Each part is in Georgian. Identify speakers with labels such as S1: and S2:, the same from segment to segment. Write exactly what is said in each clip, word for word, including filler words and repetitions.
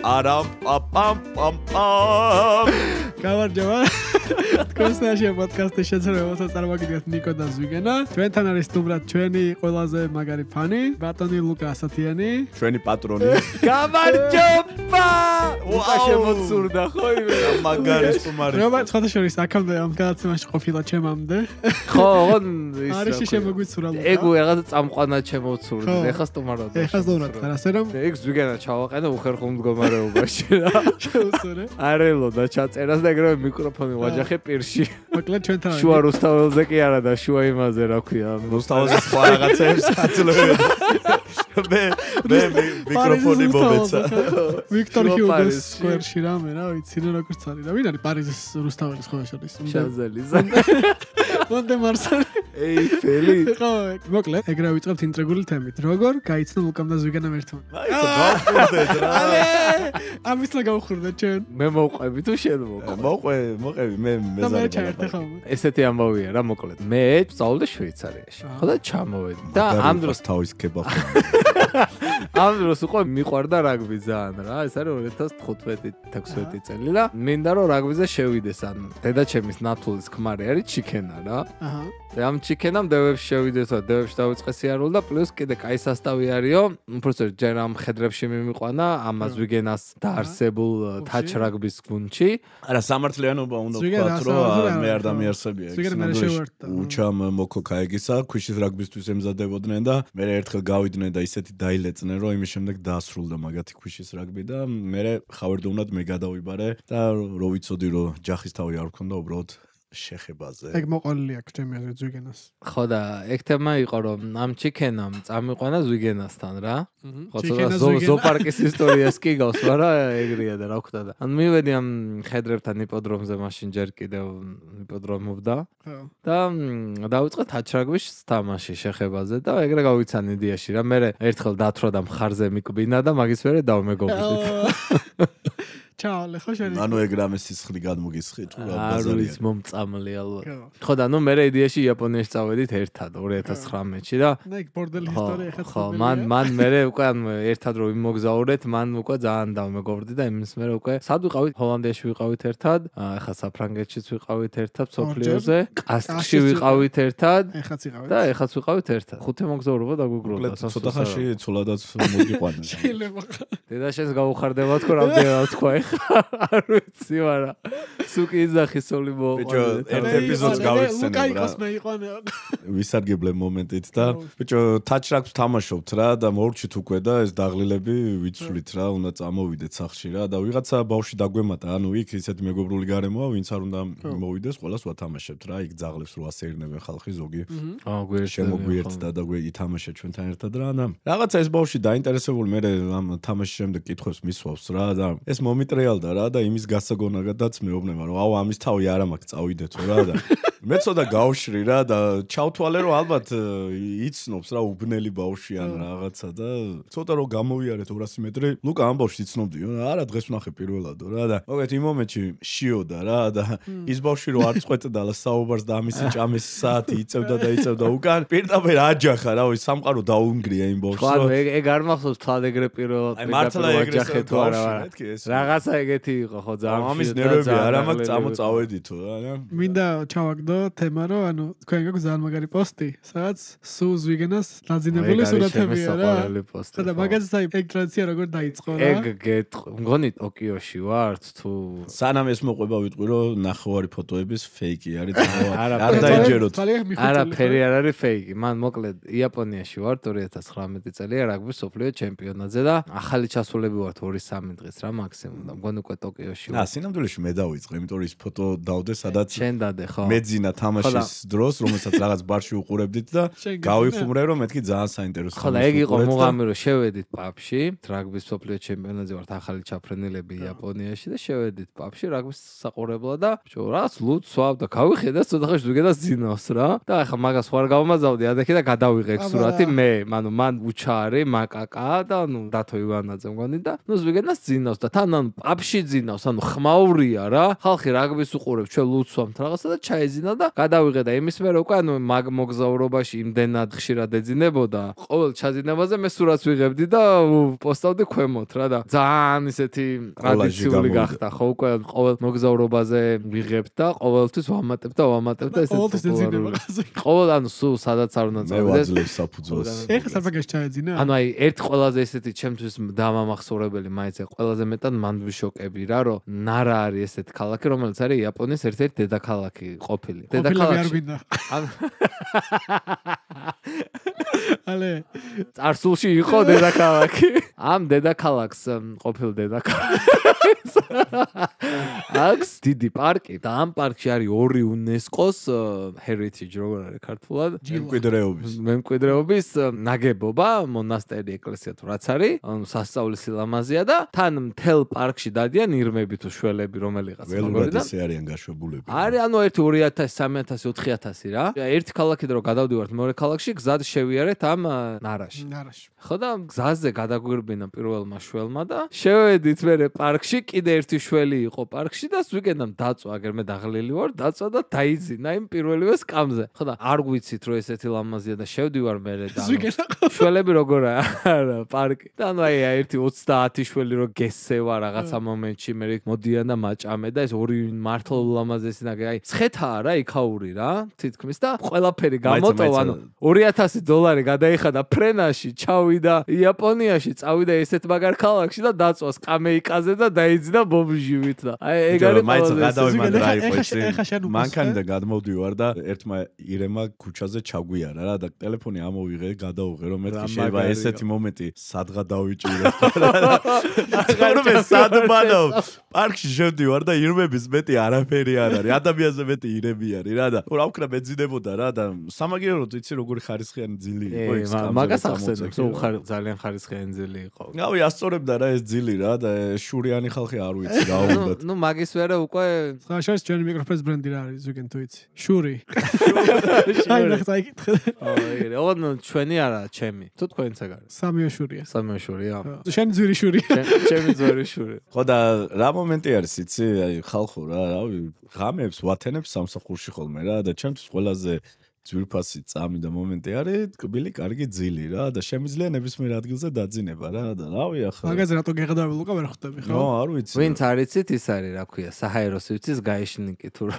S1: არამ პაპამ პამ პამ.
S2: გამარჯობა. თქვენსნაშია პოდკასტის შეცდომათა წარმოგიდგენთ ნიკო და ზვიგენა. ჩვენთან არის სტუმრად ჩვენი ყველაზე მაგარი ფანი, ბატონი ლუკა ასათიანი.
S1: ჩვენი პატრონი.
S3: გამარჯობა! უკა შემოცურდა ხო იმე?
S1: მაგარი სტუმარი.
S2: რა ცოტა შორის აქამდე ამ გადაცემაში ყოფილა ჩემამდე.
S3: ხო, ოღონ ის
S2: არის შემოგვიცურა ლუკა.
S3: ეგ რაღაც წამყვანა შემოცურდა. ეხა სტუმარად.
S2: ეხა სტუმრად ხარ, ასე რომ
S3: ეგ ზვიგენა ჩავაყენე უხერხულ მდგომარეობაში რა.
S2: შეუსურე.
S3: არელო და ჩაწერას და ეგრევე მიკროფონი ვაჯახე პირში.
S2: მოკლედ ჩვენთან არის.
S3: შუა რუსთაველზე კი არა და შუა იმაზე რა ქვია.
S1: რუსთაველზე სხვა რაღაცებს აცლევენ. მე მე მიკროფონი მომეცა.
S2: ვიქტორ ჰიუგოს სკვერში რამე რა ვიცი რა როგორც არის რა. ვინ არის პარიზის რუსთაველის ხოლმე შორის?
S3: შანზელიზე.
S2: მონტე მარსალი.
S3: ეიფელი.
S2: ხო, მოკლედ ეგრევე ვიწყებთ ინტრიგული თემით. როგორ გაიცნო ლუკამ და ზვიგენამ ერთმანეთს?
S1: აი, გავხურდეთ რა.
S2: ალე! ამისლა გავხურდეთ ჩვენ.
S3: მე მოვყვები თუ შენ მოყვე?
S1: მოყვე, მოყვები, მე მე
S2: და მე
S1: ზარი.
S2: ჩაერთე ხოლმე.
S3: ესეთი ამბავია რა მოკლედ. მე ვსწავლე შვეიცარიაში. ხო და ჩამოვედი. და ამ დროს
S1: თავის კებაბი.
S3: ამ დროს უკვე მიყვარდა რაგბი ძალიან რა. ეს არის ორი ათას თხუთმეტი თექვსმეტი წელი და მინდა რომ რაგბიზე შევიდეს. ანუ დედაჩემის ნათულის ქმარი არის ჩიქენა რა.
S2: აჰა.
S3: და ამ ჩიქენამ დევებში შევიდეს და დევებში დავიწყე სიარული და პლუს კიდე კაი სასტავი არისო. უბრალოდ ჯერ ამ ხედრებში მიმიყვანა ამას ვიგენას დაარსებულ თაჩ რაგბის გუნდში.
S1: არა, სამართლიანობა უნდა ვთქვათ, რომ მე არ დამიარსებია ეს. უჩამ მოკოკაეგისა ქვიშის რაგბისთვის ემზადებოდნენ და მე ერთხელ გავიდნენ და ისეთი დაილეწნენ, რომ იმის შემდეგ დაასრულდა მაგათი ქვიშის რაგბი და მე ხავერდოვნად მე გადავიბარე და რო ვიცოდი რომ ჯახის თავი არ მქონდა უბრალოდ შეხებაზე.
S2: ეგ მოყოლილი აქვს ჩემი აზრით ზვიგენას.
S3: ხო და ეგ თემა იყო რომ ამ ჩიქენამ წამიყვანა ზვიგენასთან რა. ხო ცოტა ზოპარკის ისტორიას კი გავს, მაგრამ ეგრეა და რა ვქნა და. ანუ მივედი ამ ხედრებთან იპოდრომზე მაშინ ჯერ კიდევ იპოდრომობდა.
S2: ხო.
S3: და დავიწყე თაჩრაგბის თამაში შეხებაზე და ეგრე გავიცან იდეაში რა. მე ერთხელ დათრა და მხარზე მიკბინა და მაგის მერე დავმეგობრდით.
S2: ჩავალე ხო შენ.
S1: ანუ ეგ რამე სისხლი გადმოგისხი თუ რა
S3: ბაზარია. არის მომწამლი ალბათ. ხო და ნუ მე იდეაში იაპონიაში წავედით ერთად ორი ათას ცხრამეტში და
S2: და ეგ ბორდელი ისტორია ხა.
S3: ხო, მან მან მე უკვე ერთად რო ვიმოგზაურეთ, მან უკვე ძალიან დავმეგობრდი და იმის მერე უკვე სად ვიყავით? ჰოლანდიაში ვიყავით ერთად, ახლა საფრანგეთშიც ვიყავით ერთად სოფლიოზე, კასკში ვიყავით ერთად.
S2: ეხაც იყავით.
S3: და ეხაც ვიყავით ერთად. ხუთი მოგზაურობა დაგუგროვდა.
S1: ცოტა ხანში ცოლადაც მოგიყვანა.
S2: შეიძლება.
S3: დედაშენს გაუხარდება თქო რამდენად თქვა არ ვიცი, მაგრამ სუკი იძახი სული მოყვა.
S1: ბიჭო, ერთ ეპიზოდს გავიხსენებ რა.
S2: ლუკაიკოს მეიყვანე.
S1: ვისარგებლე მომენტით და ბიჭო, თაჩრაგბს თამაშობთ რა და მორჩით უკვე და ეს დაღლილები ვიცვლით რა, უნდა წამოვიდეთ სახლში რა და ვიღაცა ბავშვი დაგვემატა, ანუ იქ ისეთი მეგობრული გარემოა, ვინც არ უნდა მოვიდეს, ყველას ვათამაშებთ რა, იქ ძაღლებს რო ასეირნებენ ხალხი ზოგი.
S3: აა გვერდში
S1: შემოგვიერთდა და გვე ითამაშეთ ჩვენთან ერთად რა და რაღაცა ეს ბავშვი დაინტერესებული მე ამ თამაშის შემდეგ კითხვებს მისვავს რა და ეს მომიტრიალდა რა და იმის გასაგონადაც მეუბნება რომ აუ ამის თავი არ მაქვს წავიდეთო რა და მე ცოტა გავშრი რა და ჩავთვალე რომ ალბათ იცნობს რა უბნელი ბავშვი ან რაღაცა და ცოტა რომ გამოვიარეთ ორასი მეტრი ლუკა ამ ბავშვს იცნობდიო არა დღეს ვნახე პირველადო რა და მოგეთ იმ მომენტში შიოდა რა და ის ბავშვი რომ არ წყვეტდა და საუბარს და ამისი ჭამის საათი იწევდა და იწევდა უკან პირდაპირ აჯახა რა ის სამყარო დაუნგრია იმ ბავშვს
S3: ხო ეგ ეგ არ მახსოვს თვალ ეგრე პირველად
S1: მართლა ეგრე
S3: თუ არა რაღაცა ეგეთი იყო ხო ძალიან
S1: ამის ნერვები არა მაქვს წამოწავედითო რა
S2: მინდა ჩავაგდო თემა რომ ანუ თქვენ გაქვს ძალიან მაგარი პოსტი სადაც სულ ზვიგენას დაძინებული სურათებია რა და მაგაზეც აი ეგ ტრადიცია როგორ დაიწყო რა
S3: ეგ გეტყვი მგონი ტოკიოში ვართ თუ
S1: სანამ ეს მოყვება ვიტყვი რომ ნახევარი ფოტოების ფეიკი არის არ დაიჯეროთ
S3: არა ფერი არ არის ფეიკი მან მოკლედ იაპონიაში ვართ ორი ათას ცხრამეტი წელია რაგბის სოფლიო ჩემპიონატზე და ახალი ჩასულები ვართ ორი სამი დღეს რა მაქსიმუმ და მგონი უკვე ტოკიოში
S1: ვარ. აა სინამდვილეში მე დავიწყე, იმიტომ რომ ის ფოტო დავდე სადაც
S3: შენ დადე ხო?
S1: მეძინა თამაშის დროს, რომელსაც რაღაც ბარში უყურებდით და გავიხუმრე რომ მეთქი ძალიან საინტერესო.
S3: ხო და ეგ იყო მუღამი რომ შევედით პაბში, რაგბის სოფლიო ჩემპიონატზე ვართ ახალი ჩაფრენილები იაპონიაში და შევედით პაბში რაგბის საყურებლად და რაც ლუდს ვავ და გავიხედა ცოტა ხანში ზუგედას ძინავს რა და ახლა მაგას ხوار გავმაზავდი ადექი და გადავიღე ეგ სურათი მე, ანუ მან უჩარი მაკაკა და ნუ დათო ივანაძე მგონი და ნუ ზუგედას ძინავს და თან ანუ პაბში ძინავს, ანუ ხმაურია რა. ხალხი რაგბის უყურებს, ჩვენ ლუდს ვამთ რაღაცა და ჩაეძინა წინა და გადავიღე და იმის მერე უკვე ანუ მაგ მოგზაურობაში იმდენად ხშირად ეძინებოდა. ყოველ ჩაძინებაზე მე სურათს ვიღებდი და პოსტავდი ქვემოთ რა და ძალიან ისეთი ტრადიციული გახდა ხო უკვე ყოველ მოგზაურობაზე ვიღებ და ყოველთვის ვამატებ და ვამატებ და ესეც ყოველ ანუ სულ სადაც არ უნდა
S1: წავიდე. მე ვაძლევ საფუძველს.
S2: ეხლა საფაგაში ჩაეძინა?
S3: ანუ აი ერთ ყველაზე ესეთი ჩემთვის დამამახსოვრებელი მაინც ყველაზე მეტად მანდვიშოკები რა რომ ნარა არის ესეთი ქალაქი რომელიც არის იაპონიის ერთ-ერთი დედაქალაქი ყოფილი.
S2: დედაქალაქი ალე
S3: წარსულში იყო დედაქალაქი. ამ დედაქალაქს ყოფილ დედაქალაქს აქვს დიდი პარკი და ამ პარკში არის ორი UNESCO-ს heritage როგორ არის ქართულად
S1: მემკვიდრეობის
S3: მემკვიდრეობის ნაგებობა მონასტერი ეკლესია თუ რაც არის ანუ სასწაულის სილამაზეა და თან მთელ პარკში დადიან ირმები თუ შველები რომელიღაც
S1: როგორიდან ეს არიან გაშვებულები
S3: არის ანუ ერთი ორი ათასი სამი ათასი ოთხი ათასი რა ერთი ქალაქიდან რომ გადავდივართ მეორე ქალაქში გზად შევიარეთ ამ ნარაში
S2: ნარაში
S3: ხო და გზაზე გადაგვირბინა პირველმა შველმა და შევედით მერე პარკში კიდე ერთი შველი იყო პარკში და ვიგენამ დაწვა აგერ მე დაღლილი ვარ დაწვა და დაიძინა იმ პირველივე სკამზე ხო და არ გვიცით რომ ესეთი ლამაზია და შევდივარ მერე და შველები როგორაა არა პარკი და ანუ აი ერთი ოცდაათი შველი რო გესევა რაღაცა მომენტში მერე მოდიან და მაჭამე და ეს ორი მართლა ლამაზესი ნაგე აი ცხეთაა რა იქაური რა თითქმის და ყველაფერი გამოტოვა ანუ ორი ათასი დოლარი გადაიხადა ფრენაში ჩავიდა იაპონიაში წავიდა ესეთ მაგარ ქალაქში და დაწვა სკამეიკაზე და დაიძინა ბომჟივით და აი ეგ არის
S1: მაინც გადავიმან რა იყო ეს მანქანიდან გადმოვდივარ და ერთმა ირემა ქუჩაზე ჩაგვიარა რა და ტელეფონი ამოვიღე გადავუღე რომ მეთქი შეიძლება ესეთი მომენტი სადღა დავიჭირე ხორმე სადმანო პარკში შევდივარ და ირმების მეტი არაფერი არ არის ადამიანზე მეტი ირები არის რა და რა ვქნა მეძინებოდა რა და სამაგიეროდ იცი როგორი ხარისხიანი ძილი იყო ეს
S3: მაგას ახსენებს რომ ძალიან ხარისხიანი ძილი იყო
S1: გავი ასწორებდა რა ეს ძილი რა და შურიანი ხალხი არ ვიცი რა უნდა
S3: ნუ მაგის ვერა უკვე
S2: ხაშას ჩვენი მიკროფონის ბრენდი რა არის ზუგენ თუ იცი შური აი ნახე აიკითხე
S3: აი ოდნო ჩვენი არა ჩემი თუ თქვენიც ეგ არის
S2: სამიო შურია
S3: სამიო შურია
S2: შენი ძვირი შური
S3: ჩემი ძვირი შური
S1: ხო და რა მომენტი არის იცი აი ხალხო რა რავი ღამეებს ვათენებს სამსახურში ხოლმე რა და ჩემთვის ყველაზე ძვირფასი წამი და მომენტი არის კბილი კარგი ძილი რა და შემიძლია ნებისმიერ ადგილზე დაძინება რა და რავი ახლა
S2: მაგაზე რატო გეღდავი ლუკა ვერ ხვდები ხო?
S1: ნო არ ვიცი
S3: ვინც არიცით ის არის რა ქვია საჰაერო სივრცის გაიშნიკი თუ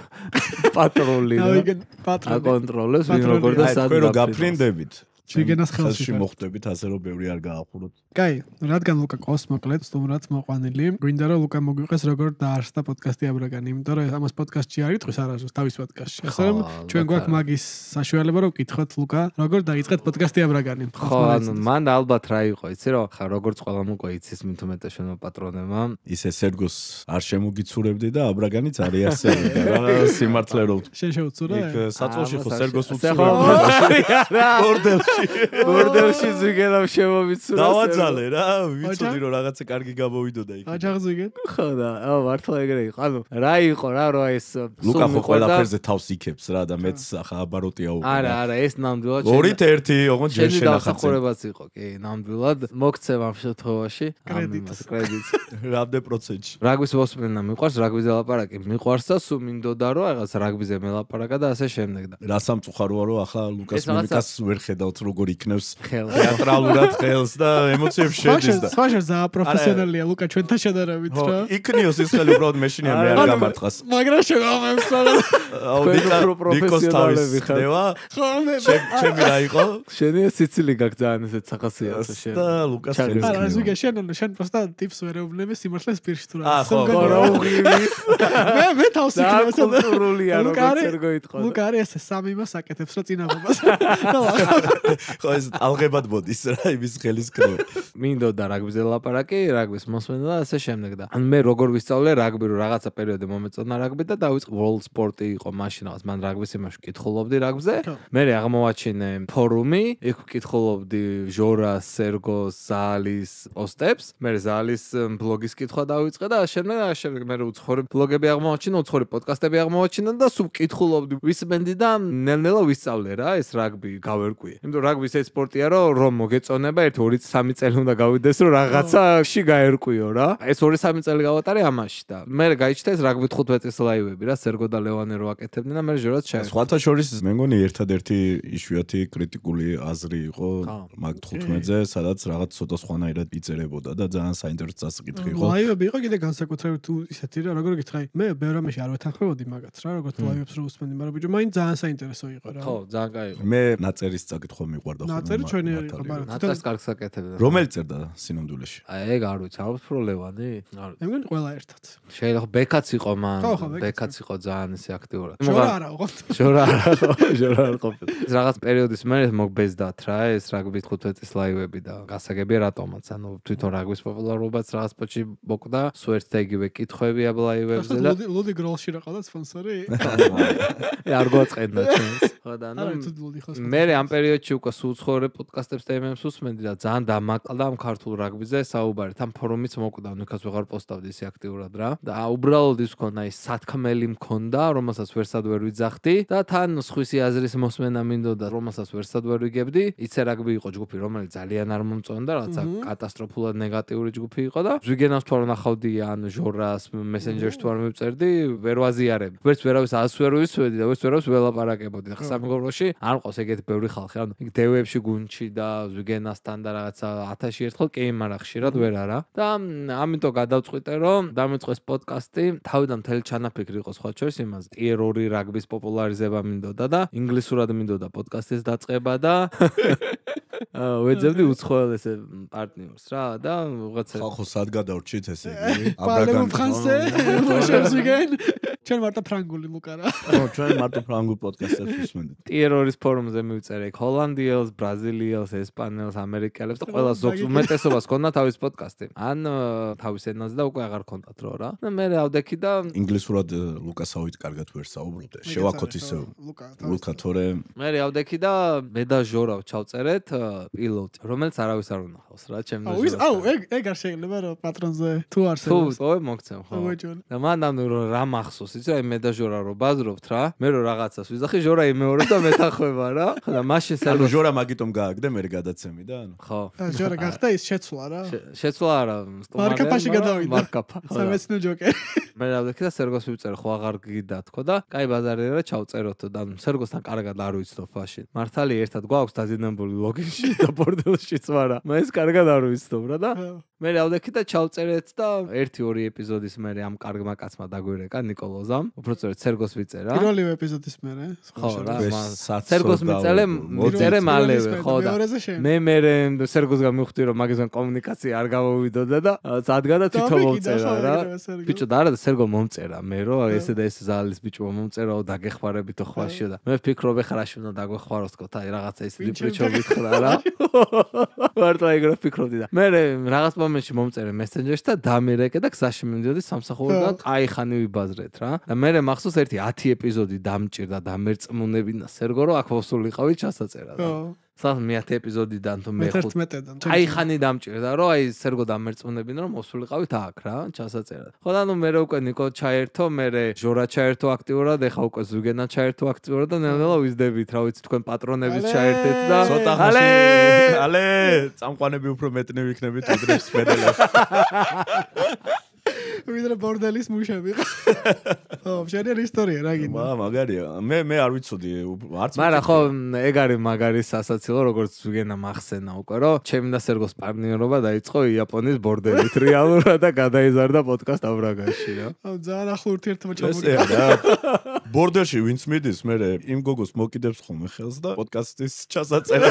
S3: პატრული რა
S2: პატრული
S3: აკონტროლებს ვინ როგორ და სად
S1: თქვენ რო გაფრინდებით
S2: შეგენას ხელში
S1: მოხვდებით ასე რომ ბევრი არ გაახუროთ.
S2: კაი, რადგან ლუკა ყავს მოკლედ, სტუმრად მოყვანილი, გვინდა რომ ლუკა მოგვიყეს როგორ დაარსდა პოდკასტი აბრაგანი, იმიტომ რომ ამას პოდკასტში არ იტყვის არასდროს თავის პოდკასტში. ასე რომ ჩვენ გვაქვს მაგის საშუალება რომ ვკითხოთ ლუკა, როგორ დაიწყეთ პოდკასტი აბრაგანი.
S3: ხო, ანუ მან ალბათ რა იყო, იცი რომ ხა როგორც ყველამ უკვე იცის მით უმეტე შენმა პატრონებმა.
S1: ისე სერგოს არ შემოგიცურებდი და აბრაგანიც არის ასე რა სიმართლე რომ
S2: შენ შეუცურა?
S1: იქ საწოლში ხო სერგოს უცურა. ბორდელში
S3: ბორდელში ზიგენამ შემოვიცურა.
S1: დავაძალე რა, ვიცოდი რომ რაღაცა კარგი გამოვიდოდა იქ.
S2: აჯაღზიგენ?
S3: ხო და აა მართლა ეგრე იყო. ანუ რა იყო რა რო ეს
S1: ლუკა ხო ყველაფერზე თავს იქებს რა და მეც ახლა აბაროტია უკვე.
S3: არა, არა, ეს ნამდვილად
S1: ორით ერთი, ოღონდ ჯერ შენახაც.
S3: შენახაც იყო, კი, ნამდვილად. მოგცემ ამ შემთხვევაში
S2: კრედიტს.
S3: კრედიტს.
S1: რამდენ პროცენტში?
S3: რაგბის მოსმენა მიყვარს, რაგბიზე ლაპარაკი მიყვარს და სულ მინდოდა რომ რაღაც რაგბიზე მელაპარაკა და ასე შემდეგ და.
S1: რა სამწუხაროა რომ ახლა ლუკას მიმიკას ვერ ხედავთ როგორ იქნევს თეატრალურად ხელს და ემოციებს შედის და.
S2: სვაშა ზა პროფესიონალია ლუკა ჩვენთან შედარებით რა.
S1: იქნიოს ის ხელი უბრალოდ მეშინია მე არ გამარტყას.
S2: მაგრამ შეგამებს რაღაც.
S1: აუ ნიკოს თავის ხდება.
S2: ხო მე
S1: ჩემი რა იყო?
S3: შენი სიცილი გაქვს ძალიან ესეთ სახასიათო შენ.
S1: და ლუკას ხელს.
S2: არა ზუგე შენ შენ просто ტიპს ვერ ეუბნები სიმართლეს პირში თუ რა.
S1: აა ხო
S3: რა უღივის.
S2: მე მე თავს იქნევს და
S3: კულტურულია როგორც ვერ გოიტყო.
S2: ლუკა არის ესე სამი მას აკეთებს რა წინაბობას.
S1: ხო ეს ალღებად მოდის რა იმის ხელის კრო.
S3: მინდოდა რაგბიზე ლაპარაკი, რაგბის მოსმენა და ასე შემდეგ და. ან მე როგორ ვისწავლე რაგბი, რომ რაღაცა პერიოდი მომეწონა რაგბი და დავიწყე World Sport-ი იყო მაშინ რაღაც მან რაგბის იმაში ვკითხულობდი რაგბზე. მე აღმოვაჩინე ფორუმი, იქ ვკითხულობდი ჟორას, სერგოს, ზალის პოსტებს. მე ზალის ბლოგის კითხვა დავიწყე და შემდეგ შემდეგ მე უცხოური ბლოგები აღმოვაჩინე, უცხოური პოდკასტები აღმოვაჩინე და სულ ვკითხულობდი ვისმენდი და ნელ-ნელა ვისწავლე რა ეს რაგბი გავერკვიე. იმიტომ იმიტომ რაგბის ეს სპორტია, რომ რომ მოგეწონება ერთი ორი სამი წელი უნდა გავიდეს, რომ რაღაცაში გაერკვიო რა. ეს ორი სამი წელი გავატარე ამაში და მე გაიჩნდა ეს რაგბი თხუთმეტი წლის ლაივები რა, სერგო და ლევანე რო აკეთებდნენ და მე ჟორაც ჩაერთო.
S1: სხვათა შორის მე მგონი ერთადერთი იშვიათი კრიტიკული აზრი იყო მაგ თხუთმეტზე, სადაც რაღაც ცოტა სხვანაირად იწერებოდა და ძალიან საინტერესო წასაკითხი იყო.
S2: ლაივები იყო კიდე განსაკუთრებით თუ ისეთი რა, როგორ გითხრა, მე ბევრ ამაში არ ვეთანხმებოდი მაგაც რა, როგორც ლაივებს რო უსმენდი, მაგრამ ბიჭო, მაინც ძალიან საინტერესო იყო რა.
S3: ხო, ძალიან კაი იყო.
S1: მე ნაწერის წაკითხვა მიყვარდა ხოლმე.
S2: ნაწერი ჩვენი არ იყო, მაგრამ
S3: ნაწერს კარგს აკეთებდა.
S1: რომელი წერდა სინამდვილეში?
S3: აი ეგ არ ვიცი, ალბათ რო ლევანი? არ ვიცი.
S2: მე მგონი ყველა ერთად.
S3: შეიძლება ბეკაც იყო მან,
S2: ხო, ხო, ბეკაც
S3: ბეკაც იყო ძალიან ისე აქტიურად.
S2: შორა არა იყო.
S3: შორა არა, შორა არ ყოფილა. ეს რაღაც პერიოდის მერე მოგბეზდათ რა, ეს რაგბის თხუთმეტი წლის ლაივები და გასაგებია რატომაც, ანუ თვითონ რაგბის პოპულარობაც რაღაც პოჩი მოკდა, სულ ერთ და იგივე კითხვები აბ ლაივებზე და
S2: ლუდი გროლში რა ყავდა სპონსორი?
S3: არ გვაწყენდა ჩვენს. ხო და
S2: არა,
S3: ანუ
S2: თუ ლუდი ხო.
S3: მე ამ პერიოდში უკვე სულ ცხოვრე პოდკასტებს და ემემს უსმენდი და ძალიან დამაკლდა ამ ქართულ რაგბიზე საუბარი. თან ფორუმიც მოკდა, ნუ იქაც ვეღარ პოსტავდი ისე აქტიურად რა. და უბრალოდ ის ქონა ის სათქმელი მქონდა, რომელსაც ვერსად ვერ ვიძახდი და თან სხვისი აზრის მოსმენა მინდოდა, რომელსაც ვერსად ვერ ვიგებდი. იცე რაგბი იყო ჯგუფი, რომელიც ძალიან არ მომწონდა, რაღაცა კატასტროფულად ნეგატიური ჯგუფი იყო და ზვიგენავს თუ არ ნახავდი ან ჟორას მესენჯერში თუ არ მივწერდი, ვერ ვაზიარებ. ვერც ვერავის ას ვერ ვისვედი და ვერც ვერავის ველაპარაკებოდი. და სამეგობროში არ მყავს ეგეთი ბევრი ხალხი, ანუ იქ დევებში გუნჩი და ზვიგენასთან და რაღაცა ათასი ერთხელ კი, მაგრამ ხშირად ვერ არა. და ამიტომ გადავწყვიტე, რომ დამეწყეს პოდკასტი, თავიდან მთელი ჩანაფიქრი იყო სხვა შორის იმას, ტიერ ორი რაგბის პოპულარიზება მინდოდა და ინგლისურად მინდოდა პოდკასტის დაწყება და ვეძებდი უცხოელ ესე პარტნიორს რა და ვიღაცა
S1: ხალხო სად გადავრჩით ესე იგი?
S2: აბრაგან ფრანსე, მოშევს ვიგენ. ჩვენ მარტო ფრანგული ლუკა რა.
S1: ხო, ჩვენ მარტო ფრანგულ პოდკასტებს უსმენთ.
S3: ტიერ ორის ფორუმზე მივწერე ჰოლანდიელს, ბრაზილიელს, ესპანელს, ამერიკელებს და ყველა ზოგს უმეტესობას ქონდა თავის პოდკასტი. ან თავის ენაზე და უკვე აღარ ქონდათ რო რა. და მე ავდექი და
S1: ინგლისურად ლუკასავით კარგად ვერ საუბრობდე. შევაქოთ ისე ლუკა თორე
S3: მე ავდექი და მე და ჟორა ჩავწერეთ პილოტი, რომელიც არავის არ უნახავს რა, ჩემ და ჟორას.
S2: აუ, ეგ ეგ არ შეიძლება რომ პატრონზე თუ არსებობს.
S3: თუ, ой, მოგცემ ხო. და მან ამ რა მახსოვს, იცი აი მე და ჟორა რო ბაზრობთ რა, მე რო რაღაცას ვიზახი, ჟორა იმეორებს და მეთახვება რა. ხო და მაშინ
S1: ანუ ჟორა მაგიტომ გააგდე მე გადაცემი და ანუ.
S3: ხო.
S2: ჟორა გახდა ის შეცვლა რა.
S3: შეცვლა არა, სტუმარი.
S2: მარკაფაში გადავიდა.
S3: მარკაფა.
S2: სამეცნო ჯოკერი.
S3: მე ავდექი და სერგოს ვიწერე, ხო აღარ გიდა თქო და კაი ბაზარია რა ჩავწეროთ და სერგოსთან კარგად არ ვიცნობ მაშინ. მართალი ერთად გვაქვს დაზიანებული ლოგინში და ბორდელშიც ვარა. მე ეს კარგად არ ვიცნობ რა და მე ავდექი და ჩავწერეთ და ერთი ორი ეპიზოდის მერე ამ კარგმა კაცმა დაგვირეკა ნიკოლოზამ. უბრალოდ სერგოს ვიწერა.
S2: პირველი ეპიზოდის მერე.
S3: ხო რა, სერგოს მიწელე, მიწერე მალევე, ხო და მე მერე სერგოსგან მივხვდი რომ მაგისგან კომუნიკაცია არ გამოვიდოდა და სადგა და თვითონ მომწერა რა. ბიჭო და არა და სერგო მომწერა მე რომ ესე და ესე ზალის ბიჭო მომწერაო დაგეხმარებითო ხვაშიო და მე ვფიქრობ ეხლა რაში უნდა დაგვეხმაროს თქო აი რაღაცა ის ბიჭო ვითხრა რა. ვარტა ეგრე ვფიქრობდი და მე რაღაც მომენტში მომწერე მესენჯერში და დამირეკე და გზაში მივდიოდი სამსახურიდან აი ხანი ვიბაზრეთ რა. და მე მახსოვს ერთი ათი ეპიზოდი დამჭირდა დამერწმუნებინა სერგო რომ აქ ვსულიყავი ჩასაწერად. სამ მეათე ეპიზოდიდან თუ მეხუთედან. აი ხანი დამჭირდა რომ აი სერგო დამერწმუნებინა რომ მოსულიყავით აქ რა ჩასაწერად. ხო და ნუ მე უკვე ნიკო ჩაერთო, მე ჟორა ჩაერთო აქტიურად, ეხა უკვე ზუგენა ჩაერთო აქტიურად და ნელ-ნელა ვიზდებით რა ვიცი თქვენ პატრონებიც ჩაერთეთ და
S1: ცოტა ხანში ალე წამყვანები უფრო მეტნი ვიქნებით ვიდრე სპედელებში.
S2: ვიდრე ბორდელის მუშები. ხო, შენერი ისტორია რა გინდა.
S1: მა მაგარია. მე მე არ ვიცოდი არც
S3: მაგრამ ხო ეგ არის მაგარი სასაცილო როგორც ზუგენა მახსენა უკვე რომ ჩემი და სერგოს პარტნიორობა დაიწყო იაპონიის ბორდელით რეალურად და გადაიზარდა პოდკასტ აბრაგანში რა.
S2: აუ ძალიან ახლო ურთიერთობა ჩამოგიყო.
S1: ბორდელში ვინც მიდის მე იმ გოგოს მოკიდებს ხოლმე ხელს და პოდკასტის ჩასაწერა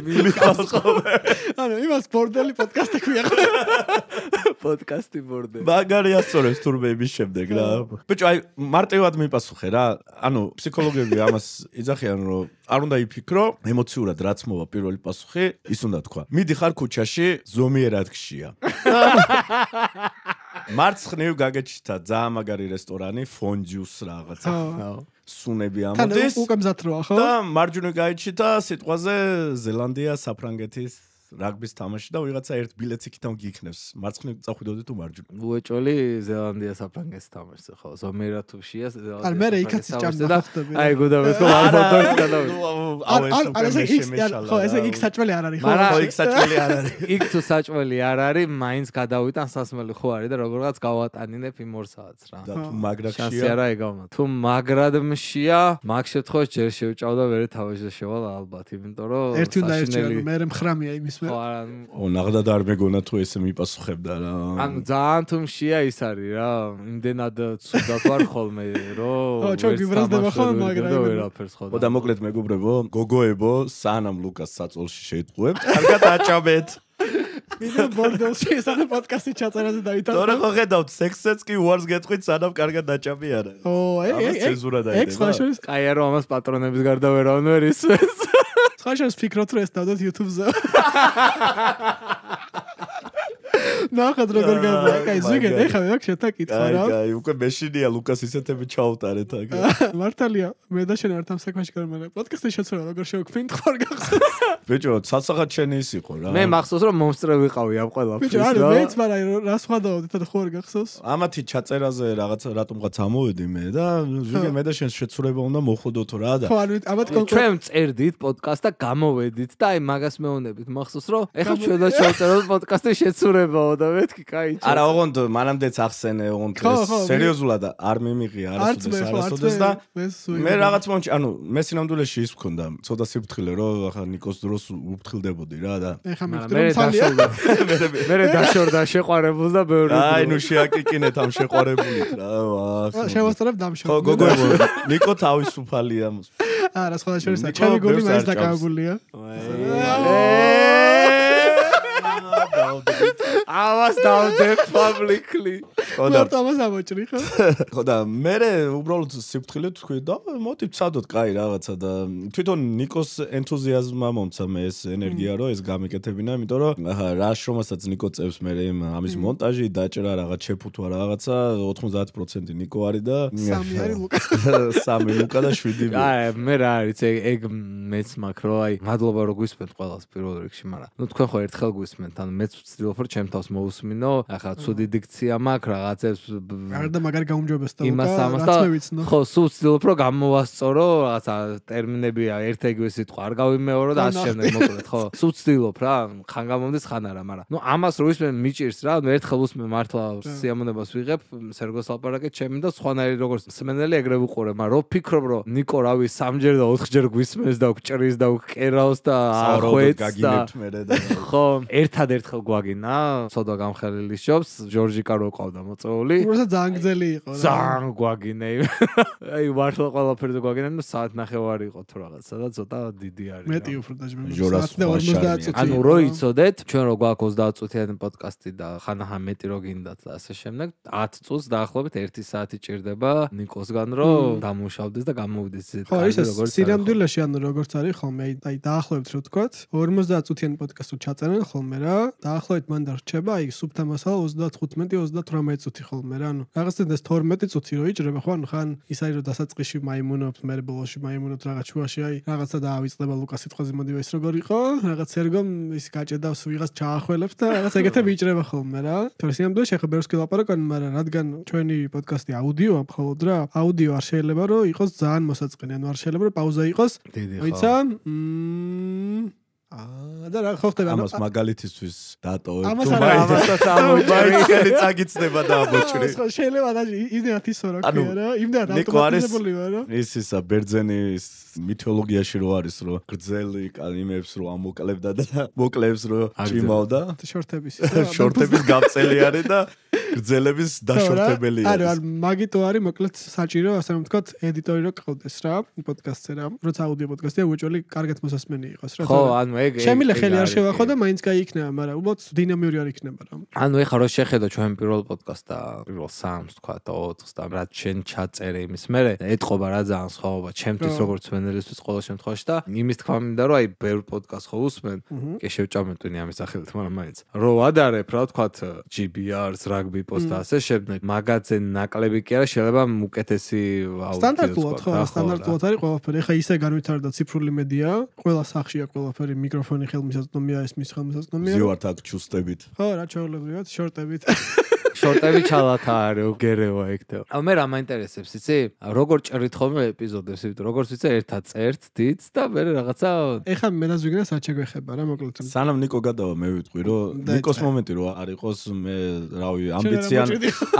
S1: მიყავს ხოლმე.
S2: ანუ იმას ბორდელი პოდკასტი ქვია.
S3: პოდკასტი ბორდელი.
S1: მაგარია სწორებს თურმე იმის შემდეგ რა. ბიჭო აი მარტივად მიპასუხე რა. ანუ ფსიქოლოგები ამას იძახიან რომ არ უნდა იფიქრო ემოციურად რაც მოვა პირველი პასუხი ის უნდა თქვა. მიდიხარ ქუჩაში ზომიერად გშია. მარცხნივ გაგეჩნდა ძალიან მაგარი რესტორანი ფონჯუს რაღაცა. სუნები ამოდის.
S2: თან უკვე მზად როა ხო?
S1: და მარჯვნივ გაიჩნდა სიტყვაზე ზელანდია საფრანგეთის რაგბის თამაში და ვიღაცა ერთ ბილეთს იქიდან გიქნევს. მარცხნივ წახვიდოდი თუ მარჯვნივ.
S3: უეჭველი ზელანდია საფრანგეთს თამაშს ხო ზომერა თუ შია ზელანდია.
S2: არ მე იქაც ჭამდა ხტები.
S3: აი გუდავეთ ხო არ ფოტოებს გადავ.
S2: არ არ ესე ხო ესე იქ საჭველი არ არის ხო?
S1: ხო იქ საჭველი არ არის.
S3: იქ თუ საჭველი არ არის, მაინც გადავიტან სასმელი ხო არის და როგორღაც გავატანინებ იმ ორ საათს რა.
S1: და თუ მაგრად
S3: შანსი
S1: შეა.
S3: არა ეგავნა. თუ მაგრად მშია, მაგ შემთხვევაში ჯერ შევჭავდა ვერე თავში შევალ ალბათ, იმიტომ რომ
S2: ერთი უნდა ერჩიო, მე მხრამია იმის მე.
S3: ხო არა.
S1: ო ნაღდად არ მეგონა თუ ესე მიპასუხებდა რა.
S3: ანუ ძალიან თუ მშია ის არის რა. იმდენად ცუდად ვარ ხოლმე, რომ
S2: ო ჩვენ გიბრაზდება ხოლმე მაგრამ
S3: ვერაფერს ხო.
S1: ო და მოკლედ მეგობრებო, გოგოებო, სანამ ლუკას საწოლში შეიტყუებთ, კარგად აჭამეთ.
S2: ვიდეო ბორდელში ესაა პოდკასტი ჩაწერაზე დავითვალე.
S1: თორე ხო ხედავთ, სექსსაც კი უარს გეტყვით, სანამ კარგად დაჭამი არა.
S2: ო ეგ ეგ
S1: ცენზურა დაიდება.
S2: ეგ სხვა შორის
S3: კაია რომ ამას პატრონების გარდა ვერავინ ვერ ისმენს.
S2: სხვა შორის ფიქრობთ რომ ეს დავდოთ YouTube-ზე. ნახეთ როგორ გავა. კაი ზუგეთ ეხლა მე აქ შეთაკითხა რა.
S1: კაი, კაი, უკვე მეშინია ლუკას ისეთები ჩაუტარეთ აქ.
S2: მართალია, მე და შენ არ თამ საქმეში გამარა. პოდკასტი შეცვალა როგორ შევქმნით ხარ გახსოვს.
S1: ბიჭო, ცალსახად შენი ის იყო რა.
S3: მე მახსოვს რომ მომსწრე ვიყავი ამ ყველაფერს.
S2: ბიჭო, არა, მეც მაგრამ რა სხვა დავდით და ხარ გახსოვს.
S1: ამათი ჩაწერაზე რაღაცა რატომღაც ამოვედი მე და ზუგე მე და შენ შეცურება უნდა მოხდოთ რა და.
S2: ხო, ანუ ამათ კონკრეტულად
S3: ჩვენ წერდით პოდკასტს და გამოვედით და აი მაგას მეუბნებით. მახსოვს რომ ეხლა ჩვენ და შევწეროთ პოდკასტი შეცურებაო და მეთქი კაი.
S1: არა, ოღონდ მანამდეც ახსენე, ოღონდ სერიოზულად არ მიმიღია არასოდეს არასოდეს და მე რაღაც მომჩი, ანუ მე სინამდვილეში ის მქონდა, ცოტა სიფრთხილე რომ ახლა ნიკოს დროს უფრთხილდებოდი რა და.
S2: ეხლა მივხვდი რომ თალია.
S3: მე მე დაშორდა შეყვარებულს და ბევრი.
S1: აი, ნუ შეაკიკინეთ ამ შეყვარებულით რა.
S2: აა შევასწრებ დამშორ.
S1: ხო, გოგოებო, ნიკო თავისუფალია.
S2: არა, სხვა შორის ჩემი გული მაინც დაკავებულია.
S3: ამას დავდებ publicly.
S2: ხო და ამას ამოჭრი ხო?
S1: ხო და მე უბრალოდ სიფრთხილე თქვი და მოდი ვცადოთ კაი რაღაცა და თვითონ ნიკოს ენთუზიაზმა მომცა მე ეს ენერგია რომ ეს გამიკეთებინა, იმიტომ რომ რა შრომასაც ნიკო წევს მე ამის მონტაჟი, დაჭრა რაღაც შეფუთვა რაღაცა ოთხმოცდაათი პროცენტი ნიკო არის და
S2: სამი არის ლუკა.
S1: სამი ლუკა და შვიდი მე.
S3: აი მე რა არის ეგ მეც მაქრო აი მადლობა რომ გვისმენთ ყველას პირველ რიგში, მაგრამ ნუ თქვენ ხო ერთხელ გვისმენთ, ანუ მეც ვცდილობ რომ ჩემ თავს მოусმინო, ახლა ცუდი დიქცია მაქვს რაღაცებს
S2: არ და მაგარი გაუმჯობესდა ლუკა.
S3: იმას ამას და ხო სულ ვცდილობ რომ გამოვასწორო რაღაცა ტერმინები ერთ ეგრე სიტყვა არ გავიმეორო და ასე შემდეგ მოკლედ ხო სულ ვცდილობ რა ხან გამომდის ხან არა, მაგრამ ნუ ამას რო ვისმენ მიჭირს რა ერთხელ უსმენ მართლა სიამონებას ვიღებ სერგოს ლაპარაკეთ ჩემი და სხვანაირი როგორც სმენელი ეგრე ვუყურე, მაგრამ რო ფიქრობ რომ ნიკო რავი სამჯერ და ოთხჯერ გვისმენს და გჭრის და გკერავს და ახვეც და ხო ერთადერთხელ გვაგინა ცოტა გამხელილი შობს ჯორჯიკა რო ყავდა მოწეული.
S2: უბრალოდ ძალიან გძელი იყო რა.
S3: ძალიან გვაგინე. აი მართლა ყველაფერზე გვაგინე, ნუ საათ ნახევარი იყო თუ რაღაცა და ცოტა დიდი არის.
S2: მეტი უფრო დაჟმე.
S1: ჟორას
S2: ორმოცდაათ წუთი.
S3: ანუ რო იცოდეთ, ჩვენ რო გვაქვს ოცდაათ წუთიანი პოდკასტი და ხანაჰა მეტი რო გინდათ და ასე შემდეგ, ათი წუთს დაახლოებით ერთი საათი ჭირდება ნიკოსგან რომ დამუშავდეს და გამოვიდეს ისეთ
S2: კაი როგორც სინამდვილეში ანუ როგორც არის ხოლმე აი დაახლოებით რო თქვათ ორმოცდაათ წუთიანი პოდკასტი ჩაწერენ ხოლმე რა დაახლოებით მან დარჩება აი სუფთა მასალა ოცდათხუთმეტი ოცდათვრამეტი წუთი ხოლმე რა ანუ რაღაცა ეს თორმეტი წუთი რო იჭრება ხო ანუ ხან ის არის რომ დასაწყისში მაიმუნობთ მე ბოლოში მაიმუნობთ რაღაც შუაში აი რაღაცა დაავიწყდება ლუკას სიტყვაზე მოდივა ის როგორ იყო რაღაც ერგომ ის გაჭედავს ვიღაც ჩაახველებს და რაღაც ეგეთები იჭრება ხოლმე რა თორე სინამდვილეში ახლა ბევრს გილაპარაკობ მაგრამ რადგან ჩვენი პოდკასტი აუდიოა მხოლოდ რა აუდიო არ შეიძლება რომ იყოს ძალიან მოსაწყენი ანუ არ შეიძლება რომ პაუზა იყოს ვიცა აა და რა ხო ხდება
S1: ამას მაგალითისთვის დატოვებ
S2: თუ მაინც
S3: ამოიბარი
S1: ხელი წაგიწდება და ამოჭრი
S2: ხო შეიძლება და იმდენად ისო რა ქვია რა იმდენად ავტომატიზებული ვარ რა
S1: ის ისა ბერძენის მითოლოგიაში რო არის რომ გრძელი კალიმებს რო ამოკლებდა და მოკლებს რო ჭიმავდა
S2: შორტების
S1: შორტების გაბწელი არის და გრძელების დაშორტებელი არის.
S2: არა, მაგიტო არის მოკლედ საჭირო, ასე რომ ვთქვათ, ედიტორი რო ყავდეს რა, პოდკასტზე რა. როცა აუდიო პოდკასტია, უეჭველი კარგად მოსასმენი იყოს რა.
S3: ხო, ანუ ეგ
S2: შემიძლია ხელი არ შევახო და მაინც გაიქნება, მაგრამ უბრალოდ დინამიური არ იქნება რა.
S3: ანუ ეხლა რო შეხედო ჩვენ პირველ პოდკასტს და პირველ სამს ვთქვათ, ოთხს და რაც შენ ჩაწერე იმის მერე, ეთყობა რა ძალიან სხვაობა, ჩემთვის როგორც მენელისთვის ყოველ შემთხვევაში და იმის თქვა მინდა რომ აი ბევრ პოდკასტს ხო უსმენ, კი შევჭამეთვინი ამის სახელით, მაგრამ მაინც. რო ვადარებ რა ვთქვათ, ჯი ბი არს, რაგბი ვიპოსტა ასე შემდეგ. მაგაზე ნაკლები კი არა, შეიძლება უკეთესი აუდიო.
S2: სტანდარტულად ხო, სტანდარტულად არის ყველაფერი. ეხა ისე განვითარდა ციფრული მედია, ყველა სახშია ყველაფერი, მიკროფონი ხელმისაწვდომია, ეს მის ხელმისაწვდომია.
S1: ზივართ აქ ჩუსტებით.
S2: ხო, რა ჩაოლებრივად, შორტებით.
S3: შორტები ჩალათა არის, უგერევა ეგ. ა მე რა მაინტერესებს, იცი? როგორ ჭრით ხოლმე ეპიზოდებს, იმიტომ როგორც ვიცი, ერთად წერთ, დიც და მე რაღაცა
S2: ეხა მე და ზვიგენას რა შეგვეხება რა, მოკლედ.
S1: სანამ ნიკო გადავა, მე ვიტყვი, რომ ნიკოს მომენტი რო არ იყოს, მე რავი, ამბიცია.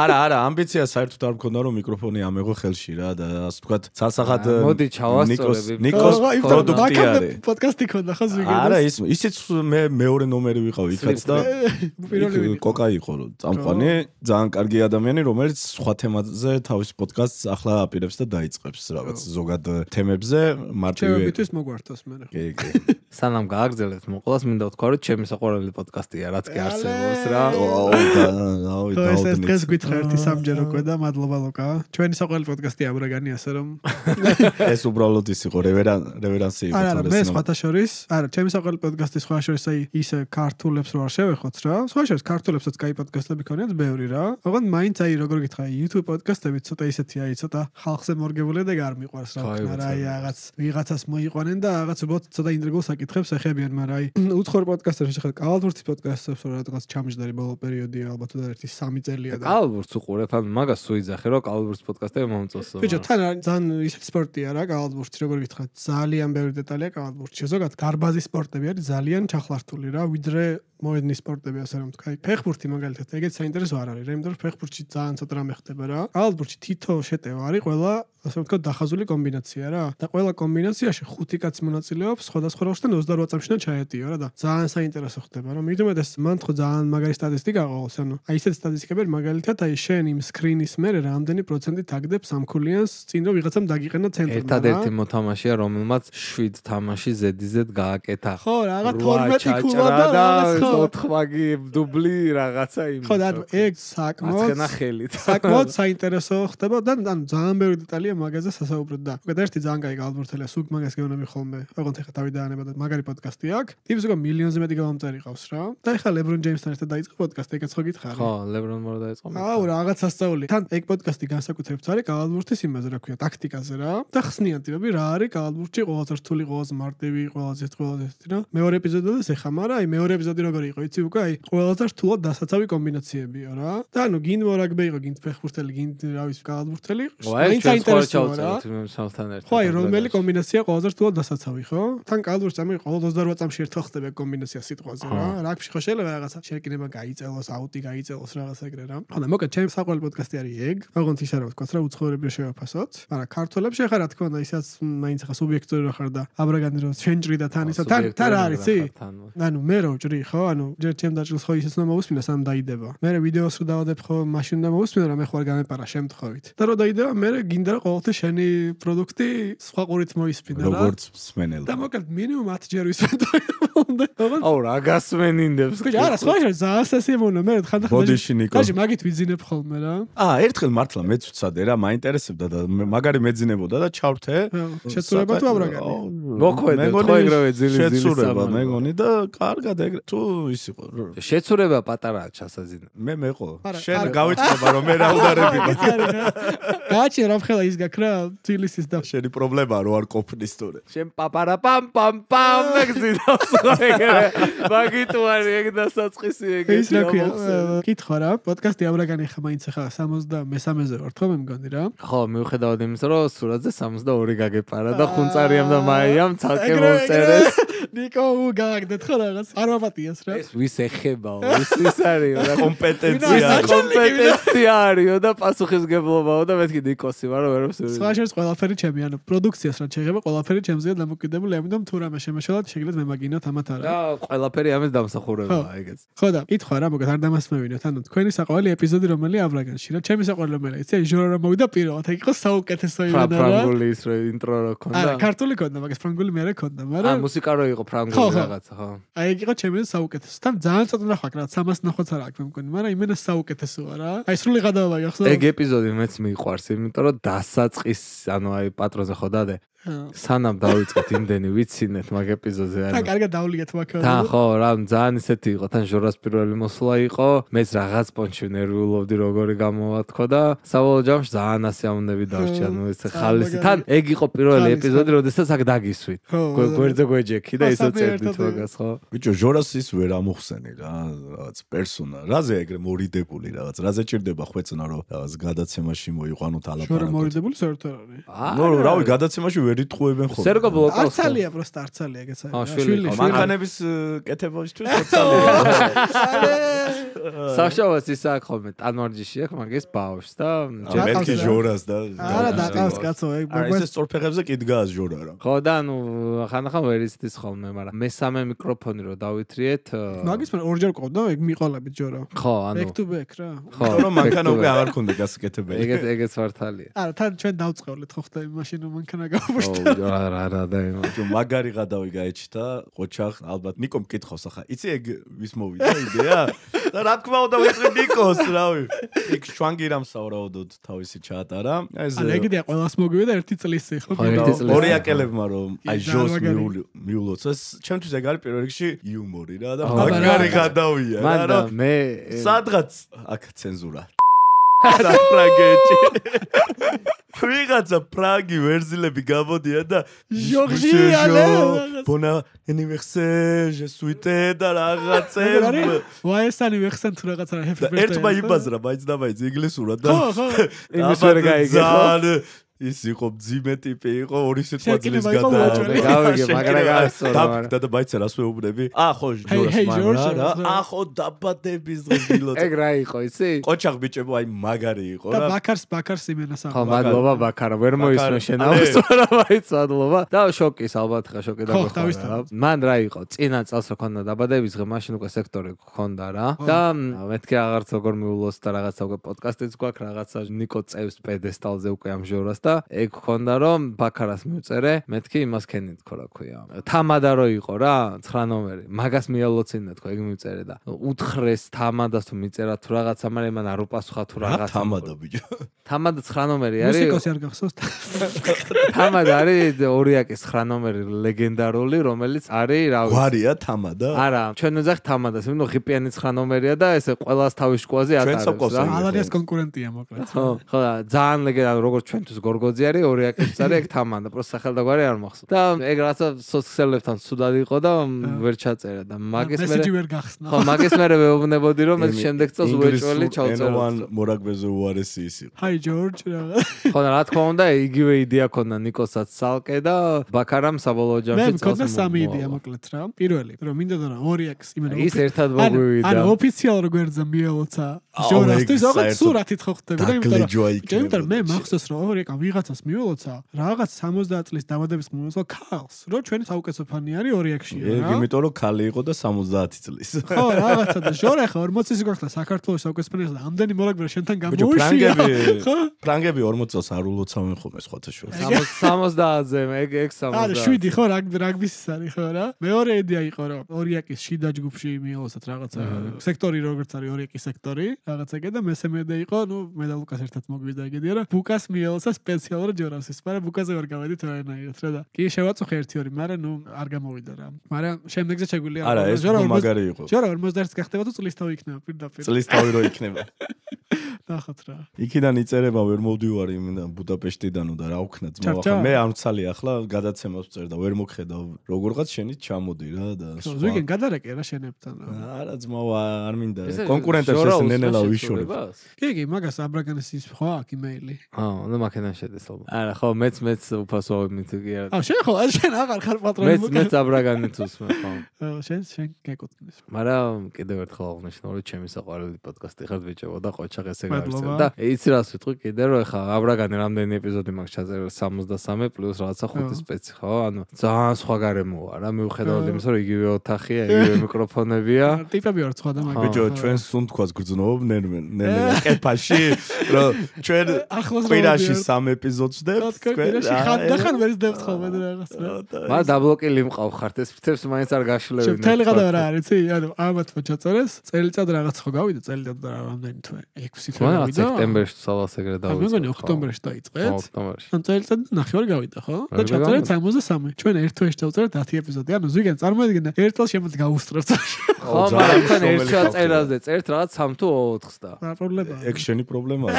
S1: არა, არა, ამბიცია საერთოდ არ მქონდა, რომ მიკროფონი ამეღო ხელში რა და ასე ვთქვათ, ცალსახად
S3: მოდი ჩავასწორები.
S1: ნიკოს პროდუქტი არის.
S2: პოდკასტი ქონდა ხო ზვიგენას?
S1: არა, ის ისიც მე მეორე ნომერი ვიყავ იქაც და კოკა იყო წამყვანი. ძალიან კარგი ადამიანი, რომელიც სხვა თემაზე თავის პოდკასტს ახლა აპირებს და დაიწყებს რაღაც ზოგად თემებზე მარტივი.
S2: ჩემთვის მოგვართოს მე.
S1: კი, კი.
S3: სანამ გააგრძელებთ მოყოლას, მინდა ვთქვა, რომ ჩემი საყვარელი პოდკასტია, რაც კი არსებობს რა.
S1: აუ და აუ და
S2: ეს ეს დღეს გითხრა ერთი სამჯერო უკვე და მადლობა ლოკა. ჩვენი საყვარელი პოდკასტია აბრაგანი, ასე რომ
S1: ეს უბრალოდ ის იყო რევერან რევერანსი იყო.
S2: არა, მე სხვათა შორის, არა, ჩემი საყვარელი პოდკასტი სხვა შორის აი ისე ქართულებს რო არ შევეხოთ რა. სხვა შორის ქართულებსაც კაი პოდკასტები ქონიათ ბევრი რა. ოღონდ მაინც აი როგორ გითხრა YouTube პოდკასტები ცოტა ისეთი აი ცოტა ხალხზე მორგებული და არ მიყვარს რა თქმა უნდა აი რაღაც ვიღაცას მოიყვანენ და რაღაც უბრალოდ ცოტა ინტრიგულ საკითხებს ეხებიან, მაგრამ აი უცხოურ პოდკასტებში ხარ კალათბურთის პოდკასტებს რა რაღაც ჩამჯდარი ბოლო პერიოდია ალბათ და ერთი სამი წელია და
S3: კალათბურთს უყურებ, ან მაგას სუიძახე რომ კალათბურთის პოდკასტები მომწონს.
S2: ბიჭო, თან ძალიან ისეთი სპორტია რა კალათბურთი, როგორ გითხრა, ძალიან ბევრი დეტალია კალათბურთში. ზოგადად გარბაზის სპორტები არის ძალიან ჩახლართული რა, ვიდრე მოედნის სპორტები ასე რომ თქვა. ფეხბურთი მაგალითად ეგეც საინტერესო არ არის, იმიტომ რომ ფეხბურთში ძალიან ცოტა რამე ხდება რა. კალათბურთში თითო შეტევა არის ყველა ასე რომ თქვა დახაზული კომბინაცია რა. და ყველა კომბინაციაში ხუთი კაცი მონაწილეობს სხვადასხვა როლში და ოცდაოთხ წამში ჩაეტიო რა და ძალიან საინტერესო ხდება რა. მithumetes მან თქო ძალიან მაგარი სტატისტიკა ყავს, ანუ აი ესეთი სტატისტიკები მაგალითად აი შენ იმ სკრინის მერე რამდენი პროცენტი თაგდებს სამქულიანს წინ რომ ვიღაცამ დაგიყენა ცენტრმა.
S3: ერთადერთი მოთამაშეა რომელმაც შვიდ თამაში ზედიზედ გააკეთა.
S2: ხო, რაღაც თორმეტი ქულა და რაღაც
S3: ოთხმაგი დუბლი რაღაცა იმ.
S2: ხო, და ეგ საკმაოდ
S3: აცხენა ხელით.
S2: საკმაოდ საინტერესო ხდება და ანუ ძალიან ბევრი დეტალია მაგაზე სასაუბრად და უკეთ ერთი ძალიან კაი კალათბურთელია, სულ მაგას გეუბნები ხოლმე. ოღონდ ეხა თავი დაანება და მაგარი პოდკასტი აქვს. ტიპს უკვე მილიონზე მეტი გამომწერი ყავს რა. და ეხა LeBron James-თან ერთად დაიწყო პოდკასტი, ეგეც ხო გითხარი?
S3: ხო, LeBron მორა დაიწყო.
S2: აუ, რაღაც სასწაული. თან ეგ პოდკასტი განსაკუთრებით არის კალათბურთის იმაზე, რა ქვია, ტაქტიკაზე რა. და ხსნიან ტიპები რა არის კალათბურთში ყველაზე რთული, ყველაზე მარტივი, ყველაზე ეს ყველაზე ეს რა. მეორე ეპიზოდიც ეხა, მაგრამ აი მეორე ეპიზოდი როგორი იყო, იცი უკვე აი ყველაზე რთულად დასაცავი კომბინაციებია რა. და ანუ გინ მორაგბე იყო, გინ ფეხბურთელი, გინ რა ვიცი კალათბურთელი.
S3: მაინც საინტერესოა რა.
S2: ხო, აი რომელი კომბინაცია ყველაზე რთულად დასაცავი, ხო? თან კალათბურთში ამი ყოველ ოცდაოთხ წამში ერთხელ ხდება კომბინაცია სიტყვაზე რა. რაგბიში ხო შეიძლება რაღაცა შეკინება გაიწელოს, აუტი გაიწელოს რაღაცა ეგრე რა. ხო და მოკლედ ჩემი საყვარელი პოდკასტი არის ეგ. ოღონდ ის არა ვთქვა რა უცხოურები შევაფასოთ. მაგრამ ქართველებში ხარ რა თქმა უნდა ისაც მაინც ხა სუბიექტური რა ხარ და აბრაგანი რომ ჩვენ ჭრი და თან ისა თან თან რა არის იცი? ანუ მე რო ჭრი ხო? ანუ ჯერ ჩემ დაჭრილს ხო ისეც მომუსმინა სამ დაიდება. მე ვიდეოს რო დავადებ ხო მაშინ და მომუსმინა რა მე ხო არ გამეპარა შემთხვევით. და რო დაიდება მე გინდა რა ყოველთვის შენი პროდუქტი სხვა ყურით მოისმინა რა.
S1: როგორც მსმენელი.
S2: და მოკლედ მინიმუმ ათ ჯერ ვისმენდა.
S3: აუ რა გასმენინდებს.
S2: ხო არა სხვა შე ზაასესიმონა მე ხანდახან
S1: ბოდიში ნიკო.
S2: კაჟი მაგით ვიძინებ ხოლმე რა.
S1: აა ერთხელ მართლა მეც ვცადე რა, მაინტერესებდა და მაგარი მეძინებოდა და ჩავრთე.
S2: შეცურება თუ აბრაგანი.
S3: მოხვედე ხო ეგრევე ძილი ძილი
S1: შეცურება მეგონი და კარგად ეგრე თუ ის იყო.
S3: შეცურება პატარაა ჩასაძინა.
S1: მე მეყო. შენ გავიწყობა რომ მე რა უნარები.
S2: გააჩი რა მხელა ის გაქრა თბილისის და
S1: შენი პრობლემაა რო არ ყოფნის თორე.
S3: შენ პაპარა პამ პამ პამ მეგზინავს ხო ეგრე. მაგით ვარი ეგ დასაწყისი ეგ.
S2: ის რა ქვია? კითხვა რა, პოდკასტი აბრაგანი ხა მაინც ხა სამოცდამესამეზე ვარ თქო მე მგონი რა.
S3: ხო, მიუხედავად იმისა, რომ სურათზე სამოცდაორი გაგეპარა და ხუნწარიამ და მაიამ ცალკე მომწერეს.
S2: ნიკო უგაგდეთ ხო რაღაც. არ ვაპატიეს რა.
S3: ეს ვის ეხებაო? ის ის არის რა
S1: კომპეტენცია.
S3: კომპეტენცია არისო და პასუხისგებლობაო და მეთქი ნიკოსი ვარო ვერ ვსურვი.
S2: სხვა შეს ყველაფერი ჩემი, ანუ პროდუქციას რა შეიძლება ყველაფერი ჩემზეა დამოკიდებული, ამიტომ თუ რამე შემეშალათ შეგიძლიათ მემაგინოთ ამათ არა.
S3: და ყველაფერი ამის დამსახურებაა ეგეც.
S2: ხო და კითხვა რა, მოგეთ არ დამასმევინოთ, ანუ თქვენი საყვარელი ეპიზოდი რომელი აბრაგანში რა, ჩემი საყვარელი რომელი, იცი, ჟურა რომ მოვიდა პირველად, ეგ იყო საუკეთესო იმენა რა.
S3: ფრანგული ის რო ინტრო რო ქონდა.
S2: არა, ქართული ქონდა, მაგას ფრანგული მე რა ქონდა, მაგრამ
S3: აა მუსიკა რო იყო ფრანგული რაღაცა, ხო.
S2: აი ეგ იყო ჩემი საუკეთესო. თან ძალიან ცოტა ნახვა რა, სამას ნახვაც არ აქვს მე მგონი, მაგრამ იმენა საუკეთესოა რა. აი სრული გადავა გახსოვს?
S3: ეგ ეპიზოდი მეც მიყვარს, იმიტომ რომ დასაწყის, ანუ აი პატრონზე ხო დადე. სანამ დავიწყეთ იმდენი ვიცინეთ მაგ ეპიზოდზე
S2: და
S3: ანუ
S2: კარგად დავლიეთ მაგას.
S3: თან ხო რა ძალიან ისეთი იყო თან ჟორას პირველი მოსვლა იყო მეც რაღაც პონჩი ნერვიულობდი როგორი გამოვათქვა და საბოლოო ჯამში ძალიან ასიამოვნები დავჭი ანუ ეს ხალისი თან ეგ იყო პირველი ეპიზოდი როდესაც აქ დაგისვით გვერდზე გვეჯექი და ისე წერდით მაგას ხო
S1: ბიჭო ჟორას ის ვერ ამოხსენი რა რაღაც პერსონა რაზე ეგრე მორიდებული რაღაც რაზე ჭირდება ხვეწნა რომ რაღაც გადაცემაში მოიყვანოთ ალაპარაკოთ
S2: ჟორა მორიდებული საერთოდ არ არის.
S1: ნუ რავი გადაცემაში ვერ იტყუებენ ხოლმე
S3: სერგო ბლოკავს
S2: არცალია просто არცალია ეგეც
S3: აა,
S2: არის.
S3: შვილი იყო,
S1: მანქანების კეთებაშთვის ხოცალია
S3: საშავას ის აქ ხოლმე ტანვარჯიში აქ მაგის ბავშვს და
S1: მეთქი ჟორას და
S2: არა დაკავს კაცო ეგ
S1: არა ეს სწორფეხებზე კი დგას ჟორა რა
S3: ხო და ნუ ხანახან ვერ იცდის ხოლმე მაგრამ მესამე მიკროფონი რო დავითრიეთ
S2: მაგის მე ორჯერ ყავდა ეგ მიყოლებით ჟორო.
S3: ხო ანუ
S2: back to back რა.
S3: ხო
S1: რომ მანქანა უკვე აღარ ქონდა გასაკეთებელი
S3: ეგეც ეგეც მართალია
S2: არა თან ჩვენ დავწყევლეთ ხო ხდა იმ მაშინ რომ მანქანა გავუშვით.
S3: ო რა რა რა და
S1: ჯო მაგარი გადავი გაეჩთა ყოჩახ ალბათ ნიკომ მკითხავს ახლა იცი ეგ ვის მოვიდა იდეა და რა თქმა უნდა ვიწრი ნიკოს რავი იქ შვანგირამ საუბრობდოდ თავისი ჩაატარა ეს
S2: ანუ ეგდია ყველას მოგვიდა ერთი წლისი ხო.
S3: ხო, ერთი წლისი.
S1: ორი აკელებმა რომ აი
S2: კი,
S1: ჟოს
S2: მაგარი.
S1: მიულოცეს ჩემთვის ეგ არის პირველ რიგში იუმორი რა და
S3: აბა,
S1: მაგარი
S2: რა.
S1: გადავია რა
S3: მან და
S1: რომ
S3: მე
S1: სადღაც აქ ცენზურა რა პრაგეჭი ვიღაცა პრაგი ვერზილები გამოდიან და
S2: ჟორჟი ალე
S1: ბონა anniversaire je suis და რაღაცებს
S2: ვაესანი ვეხსენ თუ რაღაცა happy
S1: და
S2: birthday.
S1: ერთმა იბაზრა მაინც და მაინც ინგლისურად და
S2: ხო ხო.
S3: იმის ვერ გაიგე ხო
S1: ის იყო ძიმე ტიპი იყო ორი სიტყვა
S2: შეკინება
S1: ძლის
S2: იყო
S1: გადა
S2: მოაჭრელი.
S3: გავიგე, მაგრამ გავისწორა, მაგრამ.
S1: და და მაინც რას ვეუბნები ა ხო ჟორას
S2: hey,
S1: მან
S2: George,
S1: რა
S2: რა.
S1: ა ხო დაბადების დღეს დილოწ
S3: ეგ რა იყო იცი
S1: ყოჩახ ბიჭებო აი მაგარი იყო
S2: და
S1: რა
S2: ბაქარს ბაქარს იმენას
S3: ხო
S2: აქვს.
S3: მადლობა ბაქარა ვერ მოისმე შენ
S1: ბაქარა,
S3: ავსწორა მაინც მადლობა და შოკის ალბათ ხა შოკი და
S2: ხო,
S3: გეხარა
S2: თავისთავად.
S3: მან რა იყო წინა წელს რო ქონდა დაბადების დღე მაშინ უკვე სექტორი ქონდა რა და მეთქი აღარც როგორ მიულოს და რაღაცა უკვე პოდკასტიც გვაქვს რაღაცა ნიკო წევს პედესტალზე უკვე ამ ჟორას და ეგ ქონდა რომ ბაქარას მივწერე მეთქი იმას ქენი თქო რა ქვია თამადა რო იყო რა ცხრა ნომერი მაგას მიალოცინე თქო ეგ მივწერე და უთხრეს თამადას თუ მიწერა თუ რაღაცა მაგრამ მან არ უპასუხა თუ
S1: რა
S3: რაღაცა
S1: თამადა ბიჭო
S3: თამადა ცხრა ნომერი არის
S2: მუსიკოსი არ გახსოვს.
S3: თამადა არის ორიაკის ცხრა ნომერი ლეგენდარული რომელიც არის რა ვიცი
S1: გვარია თამადა
S3: არა ჩვენ ვეძახ თამადას იმდო ღიპიანი ცხრა ნომერია და ესე ყველას თავის შკوازი
S1: ჩვენ
S3: ატარებს
S1: სოკოსი.
S3: რა
S2: ალარიას კონკურენტია მოკლედ.
S3: ხო ხო და ძალიან ლეგენდარული როგორც ჩვენთვის გორგოძი არის ორიაკის არის ეგ თამადა პროს სახელდაგვარი არ მახსოვს და ეგ რაღაცა სოციალებთან სუდად იყო და ვერ ჩაწერა და მაგის მე
S2: მესიჯი ვერ გახსნა.
S3: ხო მაგის მე ვეუბნებოდი რომ ეს შემდეგ წელს უეჭველი ჩავწერო
S1: ენოვან მორაგბეზე უარესი ის იყო
S2: Hi George რა.
S3: ხო და რა თქმა უნდა იგივე იდეა ქონდა ნიკოსაც სალკე და ბაქარამ საბოლოო
S2: მე
S3: ჯამში
S2: მქონდა სამი იდეა მოკლედ რა. პირველი რომ მინდოდა რა ორიაკს იმენა
S3: ის ერთად მოგვივიდა
S2: ანუ ოფიციალურ გვერდზე მიელოცა
S1: აუ,
S2: ჟორასთვის
S1: ეგ
S2: ოღონდ
S1: საერთოდ
S2: სურათით ხო ხდება და იმიტომ
S1: დაგლეჯვა
S2: რომ
S1: იქნებოდა.
S2: იმიტომ მე მახსოვს რომ ორიაკა ვიღაცას მიელოცა რაღაც სამოცდაათ წლის დაბადების მომსვლელ ქალს რომ ჩვენი საუკეთესო ფანი არის ორიაკშია
S1: ეგ
S2: რა.
S1: იმიტომ რომ ქალი იყო და სამოცდაათი წლის
S2: ხო რაღაცა და ჟორა ხო ორმოცი გახდა საქართველოს საუკეთესო ფანი და ამდენი მორაგბე შენთან
S1: ბიჭო
S2: გამოუშია.
S1: ფრანგები
S2: ხო?
S1: ფრანგები ორმოც წელს არ ულოცავენ ხოლმე სხვათა შორის
S3: სამოცდაათზე ეგ ეგ სამოცდაათი
S2: არა შვიდი ხო რაგბი რაგბის ის არის ხო რა მეორე იდეა იყო რომ ორიაკის შიდა ჯგუფში მიელოსათ რაღაცა სექტორი როგორც არის ორიაკის სექტორი რაღაცა და მესამე იდეა იყო ნუ მე და ლუკას ერთად მოგვიდა ეგედია რომ ბუკას მიელოსა სპეციალურად ჟორასის მაგრამ ბუკაზე ვერ გავედით ვერანაირად რა და კი შევაწუხე ერთი ორი მაგრამ ნუ არ გამოვიდა რა მაგრამ შემდეგზე შეგვიძლია
S1: არა ეს უფრო მაგარი იყო
S2: ჟორა ორმოცდაერთს გახდება თუ წლის თავი იქნება პირდაპირ
S1: წლის თავი რო იქნება
S2: ნახოთ რა
S1: იქიდან იწერება ვერ მოვდივარი იმიდან ბუდაპეშტიდანო და რა ვქნა ძმა ახლა მე არ მცალი ახლა გადაცემას ვწერ და ვერ მოგხედავ როგორღაც შენით ჩამოდი რა და
S2: ხო ზუგენ გადარეკე რა შენებთან რა
S1: არა ძმა არ მინდა კონკურენტებს ეს ნენელა ვიშორებ
S2: კი კი მაგას აბრაგანის ის ხო აქ იმეილი
S3: აა ნუ მაქედან შედეს ალბათ არა ხო მეც მეც უფასო მითი არა
S2: აა შენ ხო შენ აღარ ხარ პატრონი
S3: მეც მეც აბრაგანით უსმე ხო
S2: შენ შენ გეკუთვნის
S3: მაგრამ კიდევ ერთხელ აღნიშნო რომ ჩემი საყვარელი პოდკასტი ხარ ბიჭებო და ყოჩახ ესე გავიცემ და იცი რას ვიტყვი კიდე რომ ეხა აბრაგანი რამდენი ეპიზოდი მაქვს ჩაწერილი სამოცდასამი პლუს რაღაცა ხუთი სპეცი ხო ანუ ძალიან სხვა გარემოა რა მიუხედავად იმისა რომ იგივე ოთახია იგივე მიკროფონებია
S2: ტიპები ვარ სხვა და მაგ
S1: ბიჭო ჩვენ სუნთქვას გრძნობ ნერმენ ნენელა კეფაში რომ ჩვენ კვირაში სამი ეპიზოდს ვდებთ
S2: თქვენ. ხანდახან ვერ ზდებთ ხოლმე რაღაც რა.
S3: მაგრამ დაბლოკილი მყავ ხართ ეს ფრთებს მაინც არ გაშლევინე.
S2: შევთელი გადავა რა არის, იცი? ანუ ამათ მოჩაწორეს, წელიწად რაღაც ხო გავიდა, წელიწად და რამდენი თვე? ექვსი თვე გავიდა.
S3: სექტემბერში სალას ეგრე დავიწყე.
S2: მე მგონი ოქტომბერში დაიწყეთ.
S3: ოქტომბერში.
S2: ან წელიწად ნახევარი გავიდა, ხო? და ჩაწერეთ სამოცდა სამი. ჩვენ ერთ თვეში დავწერეთ ათი ეპიზოდი. ანუ ზვიგენ წარმოედგინე ერთ წელს შემოდი გავუსწრებთ.
S3: ხო, მაგრამ თქვენ ერთ ჩაწერაზე წერთ რაღაც სამ თუ ოთხს და.
S2: რა პრობლემაა?
S1: ეგ შენი პრობლემაა.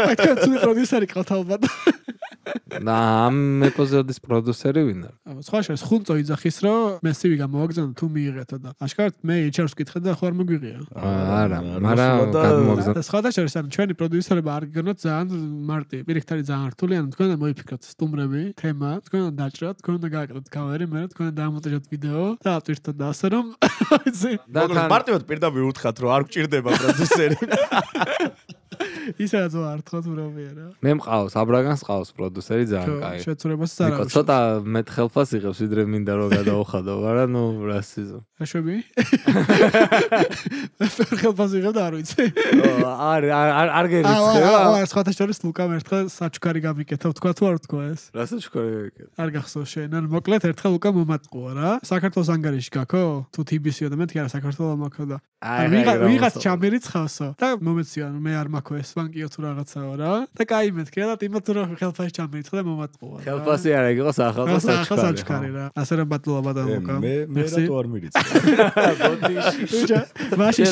S2: აი თქვენ თუ პროდიუსერი ყავთ ალბათ.
S3: და ამ ეპიზოდის პროდიუსერი ვინ არის?
S2: სხვა შეს ხუნწო იძახის რომ მე სივი გამოვაგზავნე თუ მიიღეთო და აშკარად მე ეიჩ-არს ვკითხე და ხო არ მოგვიღია.
S3: არა, მაგრამ გამოგზავნე.
S2: სხვა შეს ან ჩვენი პროდიუსერები არ გიგონოთ ძალიან მარტი, პირიქით არის ძალიან რთული, ანუ თქვენ მოიფიქროთ სტუმრები, თემა, თქვენ დაჭრათ, თქვენ და გააკეთოთ კავერი, მე თქვენ დამონტაჟოთ ვიდეო და ატვირთოთ და ასე რომ
S1: და მარტივად პირდაპირ უთხრათ რომ არ გჭირდება პროდიუსერი.
S2: ისაც ვარ თქოს ვრობია რა.
S3: მე მყავს, აბრაგანს ყავს პროდიუსერი ძალიან კაი.
S2: შეცურებას არ აქვს.
S3: ცოტა მეტ ხელფას იღებს ვიდრე მინდა რომ გადაუხადო, მაგრამ ნუ რა სიზო.
S2: რა შვები? ხელფას იღებ და არ ვიცი.
S3: არ არ არ გერიცხე რა.
S2: აა, სხვათა შორის ლუკამ ერთხელ საჩუქარი გამიკეთა, თქვა თუ არ თქვა ეს?
S3: რა საჩუქარი გამიკეთა?
S2: არ გახსოვს შენ, ან მოკლედ ერთხელ ლუკამ მომატყუა რა. საქართველოს ანგარიში გაქო? თუ თი ბი სიო და მეთქი არა საქართველოს მაქო და. აი, ვიღაც ჩამერიცხავსო და მომეცია, მე არ მაქო ეს ბანკიო თუ რაღაცაო რა. და კაი მეთქი და იმათ თუ რა ხელფასი ჩამერიცხა და მომატყუა.
S3: ხელფასი არა, იყო სახალხო
S2: საჩუქარი რა. ასე რომ ბატონობა ბატონ ლუკა.
S1: მე მე რატო არ მირიცხე?
S2: ბოდიში. მაშინ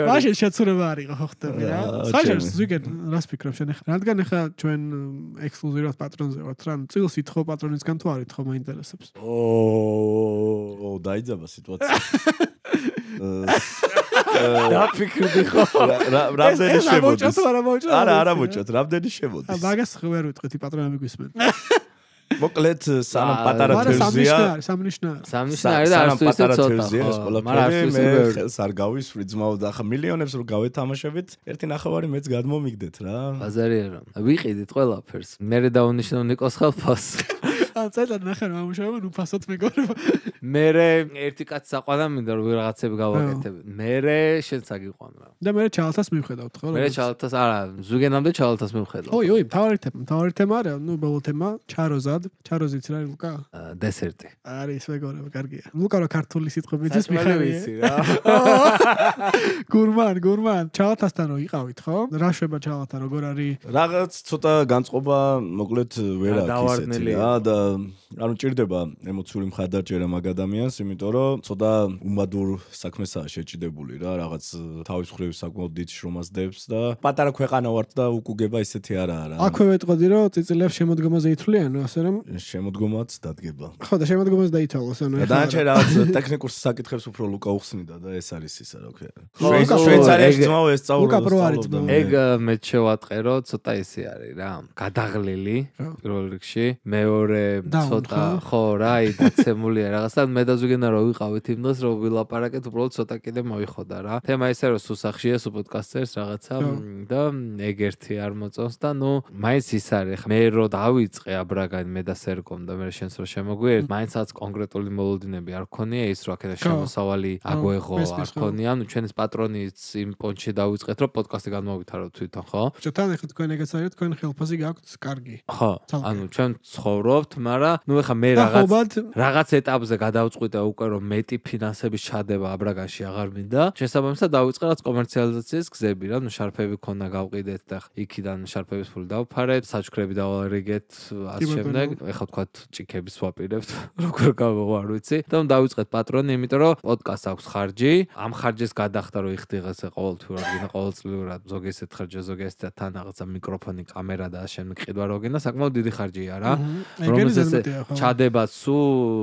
S2: მაშინ შეცურება არ იყო ხო ხტები რა. საერთოდ ზუგენ რას ფიქრობ შენ ახლა? რადგან ახლა ჩვენ ექსკლუზიურად პატრონზე ვართ რა, წილს ითხოვ პატრონისგან თუ არ ითხოვ მაინტერესებს.
S1: ო, დაიძაბა სიტუაცია.
S3: დაფიქრდი ხო?
S1: რამდენი შემოდის? არა, არა მოჭოთ, რამდენი შემოდის?
S2: მაგას ვერ ვიტყვით პატრონები გვისმენ.
S1: მოკლედ სანამ პატარა თევზია,
S2: სამნიშნარი.
S3: სამნიშნარი და არც თუ ისე ცოტა.
S1: მაგრამ მე ხელს არ გავისვრი ძმაო და ახლა მილიონებს რო გავეთამაშებით, ერთი ნახევარი მეც გადმომიგდეთ რა.
S3: ბაზარი არა. ვიყიდით ყველაფერს. მე დავუნიშნავ ნიკოს ხელფას.
S2: ან წელად ნახე რომ ამუშავება ნუ ფასოთ მეგობრებო.
S3: მერე ერთი კაცი საყვანა მინდა რომ ვიღაცები გავაკეთებ. მერე შენც აგიყვან რა.
S2: და მერე ჩალთას მივხედავთ ხო?
S3: მერე ჩალთას არა, ზუგენამდე ჩალთას მივხედავ.
S2: ოი, ოი, თავარი თემა, თავარი თემა არა, ნუ ბოლო თემა, ჩაროზად, ჩაროზიც რა ლუკა?
S3: დესერტი.
S2: არის მეგობრებო, კარგია. ლუკა რა ქართული სიტყვები იცის მიხარია.
S3: რა.
S2: გურმან, გურმან, ჩალთასთან რო იყავით ხო? რა შვება ჩალთა როგორ არის?
S1: რაღაც ცოტა განწყობა მოკლედ ვერ აქვს ისეთი რა და ანუ ჭირდება ემოციური მხარდაჭერა მაგ ადამიანს, იმიტომ რომ ცოტა უმადურ საქმესაა შეჭიდებული რა, რაღაც თავის მხრივ საკმაოდ დიდ შრომას დებს და პატარა ქვეყანა ვართ და უკუგება ისეთი არაა რა.
S2: აქვე ვეტყოდი რომ წიწილებს შემოდგომაზე ითვლიანო, ასე რომ
S1: შემოდგომაც დადგება.
S2: ხო და შემოდგომაზე დაითვალოს ანუ.
S1: და დანარჩენ რაღაც ტექნიკურ საკითხებს უფრო ლუკა უხსნიდა და ეს არის ისა რა ქვია. შვეიცარიაში ძმაო ეს სწავლობდა.
S3: ეგ მე შევატყე რომ ცოტა ისე არის რა. გადაღლილი პირველ რიგში, მეორე ცოტა ხო რა, აი დაცემულია რაღაცა მე და ზუგენა რო ვიყავით იმ დღეს რო ვილაპარაკეთ, უბრალოდ ცოტა კიდე მოიხოდა რა. თემა ისე რომ სუსახშია სუ პოდკასტერს რაღაცა და ეგ ერთი არ მოწონს და ნუ მაინც ის არის. მე რო დავიწყე აბრაგან მე და სერგომ და მე შენს რო შემოგვიერთ, მაინცაც კონკრეტული მოლოდინები არ ქონია ის რო აქედა შემოსავალი აგვეღო არ ქონია. ნუ ჩვენს პატრონიც იმ პონჩი დავიწყეთ რომ პოდკასტი განმოვითაროთ თვითონ ხო?
S2: ჩვენ ახლა თქვენ ეგეც არის, თქვენ ხელფასი გაქვთ კარგი.
S3: ხო. ანუ ჩვენ ცხოვრობთ, მაგრამ ნუ ეხა მე რაღაც რაღაც ეტაპზე გადავწყვიტე უკვე რომ მეტი ფინანსების ჩადება აბრაგანში აღარ მინდა. შესაბამისად დავიწყე რაც კომერციალიზაციის გზები რა, ნუ შარფები ქონა გავყიდეთ და იქიდან შარფების ფული დავფარეთ, საჩქრები დავალრიგეთ, ამ შემდეგ ეხა თქვათ ჭიქების ვაპირებთ, როგორ გავაღვ არ ვიცი. და ნუ დავიწყეთ პატრონი, იმიტომ რომ პოდკასტს აქვს ხარჯი, ამ ხარჯის გადახდა რომ იხდიღეს ყოველთვიურად, გინდა ყოველწლიურად ზოგი ესეთ ხარჯი, ზოგი ესეთ თან რაღაცა მიკროფონი, კამერა და ამ შემდეგ ყიდვა რო გინდა, საკმაოდ დიდი ხარჯია რა. რომელზეც ჩადება სუ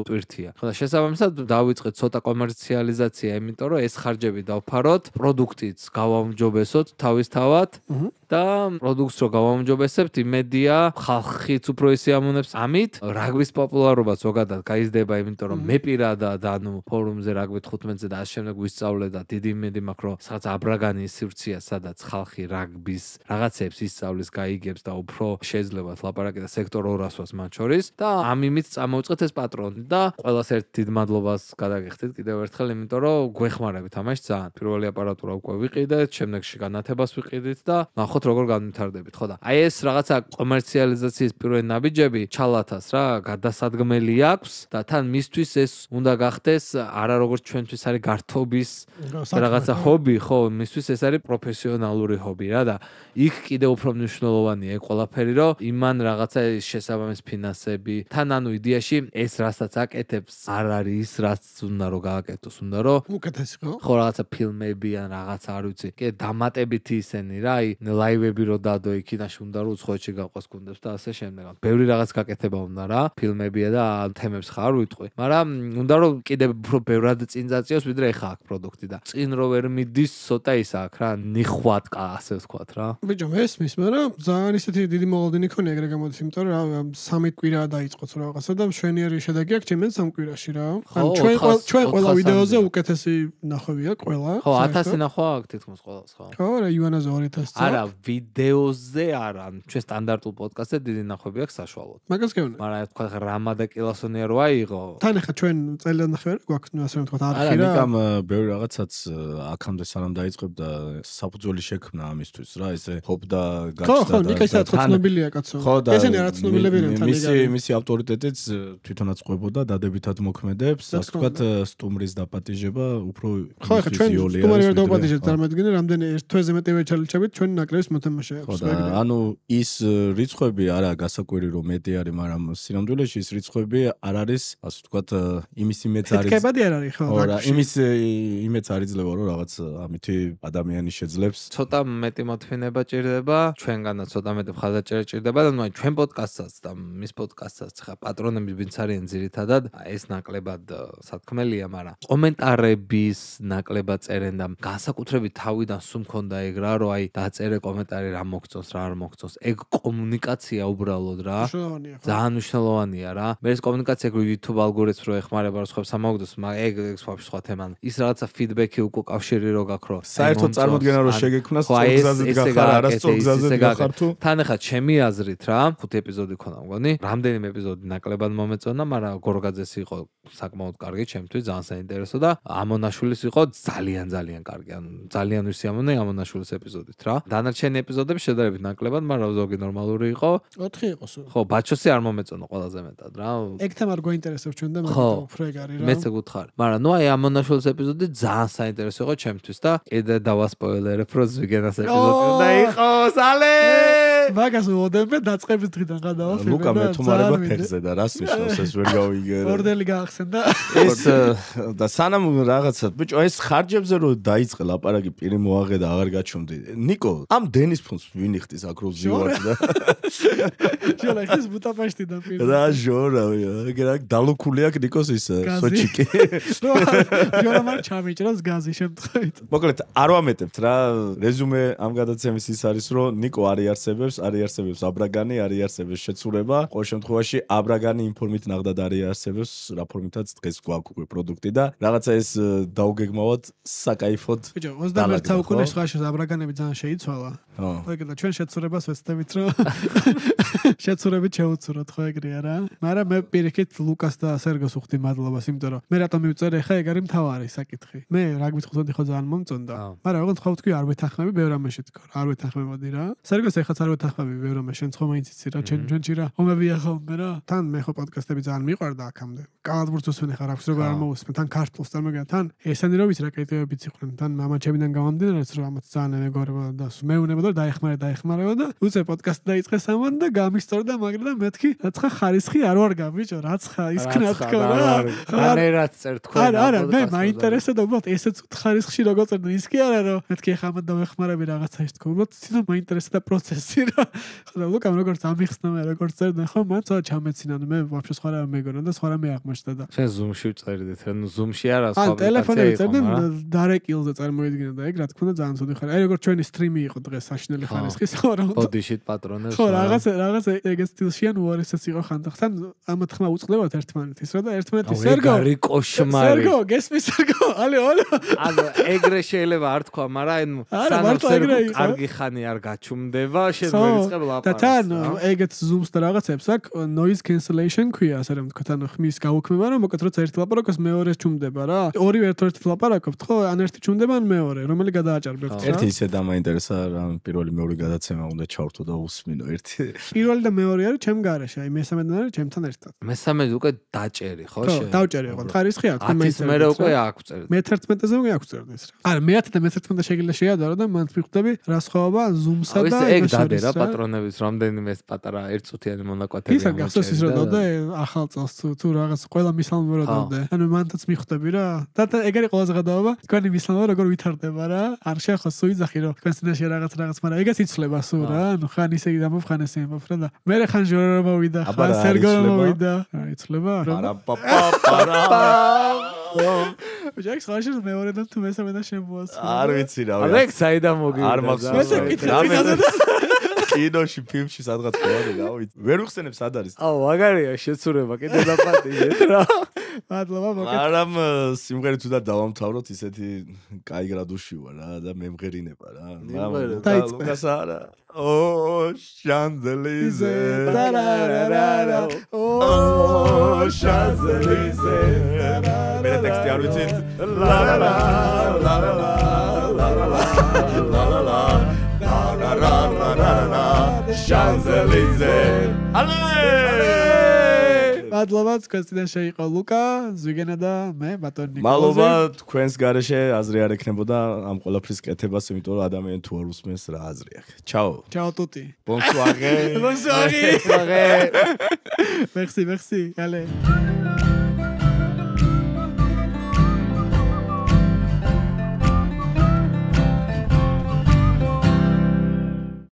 S3: ტვირთია. ხო და შესაბამისად დავიწყეთ ცოტა კომერციალიზაცია, იმიტომ რომ ეს ხარჯები დავფაროთ, პროდუქტიც გავაუმჯობესოთ თავისთავად და პროდუქტს რო გავაუმჯობესებთ, იმედია ხალხიც უფრო ისიამოვნებს ამით. რაგბის პოპულარობა ზოგადად გაიზრდება, იმიტომ რომ მე პირადად ანუ ფორუმზე რაგბი თხუთმეტზე და ამ შემდეგ ვისწავლე და დიდი იმედი მაქვს, რომ სადაც აბრაგანი სივრცეა, სადაც ხალხი რაგბის რაღაცებს ისწავლის, გაიგებს და უფრო შეიძლება ლაპარაკი და სექტორ ორასვას მათ შორის და ამ იმით წამოვიწყეთ ეს პატრონი და ყველას ერთ დიდ მადლობას გადაგიხდით კიდევ ერთხელ, იმიტომ რომ გვეხმარებით ამაში ძალიან. პირველი აპარატურა უკვე ვიყიდეთ, შემდეგში განათებას ვიყიდით და ნახოთ ნახოთ როგორ განვითარდებით, ხო და აი ეს რაღაცა კომერციალიზაციის პირველი ნაბიჯები ჩალათას რა გადასადგმელი აქვს და თან მისთვის ეს უნდა გახდეს არა როგორც ჩვენთვის არის გართობის რაღაცა ჰობი, ხო, მისთვის ეს არის პროფესიონალური ჰობი რა და იქ კიდე უფრო მნიშვნელოვანია ეგ ყველაფერი, რომ იმან რაღაცა შესაბამის ფინანსები, თან ანუ იდეაში ეს რასაც აკეთებს არ არის ის რაც უნდა რომ გააკეთოს, უნდა რომ
S2: უკეთესი ხო?
S3: ხო რაღაცა ფილმები ან რაღაცა არ ვიცი. კიდე დამატებითი ისენი რა, აი ლაივები რო დადო იქინაში უნდა რომ უცხოეთში გაყვას გუნდებს და ასე შემდეგ. ბევრი რაღაც გაკეთება უნდა რა, ფილმებია და თემებს ხარ ვიტყვი. მაგრამ უნდა რომ კიდე უფრო ბევრად წინ წაწიოს ვიდრე ეხა აქ პროდუქტი და წინ რო ვერ მიდის ცოტა ის აქ რა, ნიხვატკა ასე ვთქვათ რა.
S2: ბიჭო მესმის, მაგრამ ძალიან ისეთი დიდი მოლოდინი ქონია ეგრე გამოდის, იმიტომ რომ რა სამი კვირა დაიწყოთ რაღაცა და მშვენიერი შედეგი აქვს ჩემენ სამ კვირაში რა. ან ჩვენ ჩვენ ყველა ვიდეოზე უკეთესი ნახვევია ყველა.
S3: ხო, ათასი ნახვა აქვს თითქმის ყველას ხო.
S2: ხო, რა ივანაზე ორი ათასი.
S3: არა, ვიდეოზე არა, ჩვენ სტანდარტულ პოდკასტზე დიდი ნახვები აქვს საშუალოდ.
S2: მაგას გეუბნები.
S3: მაგრამ თქვა რამა და კილასონია რო აიღო.
S2: თან ახლა ჩვენ წელიწად ნახევარი გვაქვს, ასე რომ ვთქვათ, არხი
S1: არა,
S2: რა.
S1: ნიკამ ბევრი რაღაცაც აქამდე სანამ დაიწყებდა საფუძველი შექმნა ამისთვის რა, ესე ჰოპ და გაჩნდა.
S2: ხო, ხო, ნიკა ისაა ცნობილია კაცო. ესენი არა ცნობილები არიან თან
S1: მისი მისი ავტორიტეტიც თვითონაც ყვებოდა დადებითად მოქმედებს, ასე ვთქვათ, სტუმრის დაპატიჟება უფრო
S2: ხო, ახლა ჩვენ სტუმარი ვერ დავაპატიჟებთ, წარმოიდგინე, რამდენი ერთ თვეზე მეტი ვერ ჩალიჩებით ჩვენ ნაკრების მოთამაშე აქვს.
S1: ხო, ანუ ის რიცხვები არა გასაკვირი რომ მეტი არის, მაგრამ სინამდვილეში ის რიცხვები არ არის, ასე ვთქვათ, იმის იმეც არის.
S2: ფეთქებადი არ არის ხო,
S1: რა, იმის იმეც არ იძლევა რომ რაღაც ამითი ადამიანი შეძლებს.
S3: ცოტა მეტი მოთმინება ჭირდება, ჩვენგანაც ცოტა მეტი მხარდაჭერა ჭირდება და ნუ აი ჩვენ პოდკასტსაც და მის პოდკასტსაც ხა პატრონები ვინც არიან ძირითადად, ეს ნაკლებად სათქმელია, მაგრამ კომენტარების ნაკლებად წერენ და განსაკუთრებით თავიდან სულ მქონდა ეგ რა, რომ აი დაწერე კომენტარი რა მოგწონს, რა არ მოგწონს. ეგ კომუნიკაცია უბრალოდ რა. ძალიან მნიშვნელოვანია რა. მე ეს კომუნიკაცია YouTube ალგორითმს რო ეხმარება რო სხვებს ამოგდოს, მაგრამ ეგ ეგ სხვა თემა. ის რაღაცა ფიდბექი უკვე კავშირი რო გაქვს რო.
S1: საერთოდ წარმოდგენა რო შეგექმნას სწორგზაზე გახარ, არა სწორგზაზე გახარ თუ.
S3: თან ახლა ჩემი აზრით რა, ხუთი ეპიზოდი ქონა მგონი. რამდენიმე ეპიზოდი ნაკლებად მომეწონა, მაგრამ გორგაძეს იყო საკმაოდ კარგი, ჩემთვის ძალიან საინტერესო და ამონაშვილის იყო ძალიან ძალიან კარგი. ანუ ძალიან ვისი ამონა ამონაშვილის ეპიზოდით რა. დანარჩენი ეპიზოდები შედარებით ნაკლებად, მაგრამ ზოგი ნორმალური იყო.
S2: ოთხი იყო სულ.
S3: ხო, ბაჩოსი არ მომეწონა ყველაზე მეტად რა.
S2: ეგ თემა არ გვაინტერესებს ჩვენ და მაგრამ უფრო ეგ არის რა.
S3: მეც გუთხარ. მაგრამ ნუ აი ამონაშვილის ეპიზოდი ძალიან საინტერესო იყო ჩემთვის და კიდე დავასპოილერებ რო ზვიგენას ეპიზოდი უნდა იყოს. ალე!
S2: მაგას ვოდებ დაწყების დღიდან გადავაფილმე.
S1: ლუკა მე თუმარება ფეხზე და რას ნიშნავს ეს ვერ გავიგე.
S2: ორდელი გაახსენდა.
S1: ეს და სანამ რაღაცა ბიჭო ეს ხარჯებზე რო დაიწყე ლაპარაკი პირი მოაღე და აღარ გაჩვენდი. ნიკო, ამ დენის ფონს ვინ იხდის აქ რო ზივარ და
S2: ჯოლა ის ბუდაპეშტიდან პირი.
S1: რა ჟორავი, ეგრე დალუქული აქ ნიკოს ის სოჩიკი.
S2: ჯოლა მარ ჩამიჭრას გაზი შემთხვევით.
S1: მოკლედ არ ვამეტებთ რა, რეზუმე ამ გადაცემის ის არის რომ ნიკო არ იარსებებს, არ იარსებებს აბრაგანი, არ იარსებებს შეცურება. ყოველ შემთხვევაში აბრაგანი ინფორმით ნახდად არ იარსებებს, რა ფორმითაც დღეს გვაქვს უკვე პროდუქტი და რაღაცა ეს დაუგეგმავად საკაიფოდ.
S2: ბიჭო, ოცდამეერთე საუკუნის ხაშოს აბრაგანები ძალიან შეიცვალა.
S1: ხო.
S2: ეგ და ჩვენ შეცურებას ვეცდებით რომ შეცურებით შეუცუროთ ხო ეგრეა რა. მაგრამ მე პირიქით ლუკას და სერგოს უხდი მადლობას, იმიტომ რომ მე რატომ მივწერე ხა ეგ არის მთავარი საკითხი. მე რა გვითხოვდი ხო ძალიან მომწონდა. მაგრამ როგორც ხო ვთქვი არ ვეთანხმები ბევრ ამაში თქო. არ ვეთანხმებოდი რა. სერგოს ეხაც არ ვეთანხმები ბევრ ამაში, შენ ხო მაინც იცი რა, ჩვენ ჩვენში რა. ომებია ხოლმე რა. თან მე ხო პოდკასტები ძალიან მიყვარდა აქამდე. კალათბურთს უსმენ ხარ აქვს როგორ არ მოусმენ, თან ქართულს წარმოგიდგენ, თან ესენი რო ვიცი რა კრიტერიებიც იყვნენ, თან მამაჩებიდან გამომდინარე რომ ამათ ძალიან მეგობრებოდა და მეუნებოდა დაეხმარა დაეხმარება და უცე პოდკასტი დაიწყეს ამან და გამისტორდა მაგრამ მეთქი რაცხა ხარისხი არ ვარ გამიჭო რაცხა ის ქნა თქო რა
S3: არერაც წერ თქვენ
S2: არა არა მე მაინტერესებდა უბრალოდ ესეც ხარისხში როგორ წერდა ის კი არა რომ მეთქი ხა ამათ დავეხმარები რაღაცა ის თქო უბრალოდ ცოტა მაინტერესებდა პროცესი რა ხო და ლუკამ როგორც ამიხსნა მე როგორც წერდა ხო მან ცოტა ჩამეცინა მე ვაფშე სხვა რა მეგონა და სხვა რა მე აღმოჩნდა და
S3: შენ ზუმში წერდით ანუ ზუმში არა სხვა
S2: აპლიკაცია ტელეფონზე წერდნენ დარეკილზე წარმოიდგინე და ეგ რა თქმა უნდა ძალიან ცუდი ხარ აი როგორც ჩვენი სტრიმი იყო დღეს საშინელი ხარისხის ხო რა
S3: ბოდიშით პატრონებს
S2: ხო რაღაც რაღაც ეგ სტილში ან უარესიც იყო ხანდახან ამათ ხმა უწყდებათ ერთმანეთის რა და ერთმანეთის სერგო
S3: არი კოშმარი
S2: სერგო გესმის სერგო ალე ალე
S3: ანუ ეგრე შეიძლება არ თქვა მაგრამ ანუ სანამ სერგო კარგი ხანი არ გაჩუმდება შენ ვერიწყებ
S2: და
S3: ლაპარაკს.
S2: თან ეგეთ Zoom-ს და რაღაცებს აქვს noise cancellation ქვია, ასე რომ თქვა, ანუ ხმის გაუქმება, რომ მოკეთ როცა ერთი ლაპარაკობს მეორეს ჩუმდება რა. ორივე ერთ-ერთი ლაპარაკობთ, ხო, ან ერთი ჩუმდება, ან მეორე, რომელი გადააჭარბებთ რა.
S1: ერთი ისე დამაინტერესა, რა პირველი მეორე გადაცემა უნდა ჩავრთო და უსმინო ერთი.
S2: პირველი და მეორე არის ჩემ გარეშე, აი მესამე და არის ჩემთან ერთად.
S3: მესამე უკვე დაჭერი, ხო?
S2: ხო, დავჭერი ხო, ხარისხი აქვს,
S3: ათის მერე უკვე აქვს წერდი.
S2: მე თერთმეტეზე უკვე აქვს წერდი ეს რა. არა, მე ათი და მე თერთმეტე შეგიძლია შეადარო და მანდ მიხვდები რა სხვაობა Zoom-სა და
S3: ეგ დადე რა პატრონების რამდენიმე ეს პატარა ერთწუთიანი მონაკვეთები
S2: ამოჭერდა. ისა გახსოვს ის რა დადე ახალ წელს თუ თუ რაღაც ყველა მისალმე რა დადე. ანუ მანდაც მიხვდები რა. და ეგ არის ყველაზე გადაობა. თქვენი მისალმე როგორ ვითარდება რა. არ შეხო სუიძახი რომ თქვენ წინაშე რაღაც რაღაც, მაგრამ ეგაც იცლება სულ რა. ანუ ხან ისე დამოფ ხან ესე იმოფ რა და მე ხან ჟორო მოვიდა, ხან სერგო მოვიდა. აი იცლება.
S1: არა პაპა პარა.
S2: ვიჟაკს ხაშეს მეორე და თუ მესამე და შემოასწრო.
S1: არ ვიცი რა.
S3: ალექ საიდან მოგივიდა?
S1: არ მახსოვს. კინოში, ფილმში სადღაც ყავდა, რა ვიცი. ვერ ვიხსენებ სად არის.
S3: აუ, მაგარია შეცურება, კიდე დაპატიჟეთ რა.
S2: მადლობა, მოგეთ.
S1: მაგრამ სიმღერით უნდა დავამთავროთ, ისეთი კაი გრადუსში ვარ რა და მემღერინება რა. მაგრამ ლუკას არა. ო შანზელიზე. ტარარარა. ო შანზელიზე. მე ტექსტი არ ვიცი. ლა ლა ლა ლა ლა ლა ლა ლა ლა Champs-Élysées. Allez!
S2: მადლობა, თქვენს წინაშე იყო ლუკა, ზვიგენა და მე, ბატონი ნიკოლოზი.
S1: მადლობა, თქვენს გარეშე აზრი არ ექნებოდა ამ ყველაფრის კეთებას, იმიტომ რომ ადამიანი თუ არ უსმენს რა აზრი აქვს. Ciao.
S2: Ciao tutti.
S1: Bonsoir.
S2: Bonsoir.
S3: Bonsoir.
S2: Merci, merci. Allez.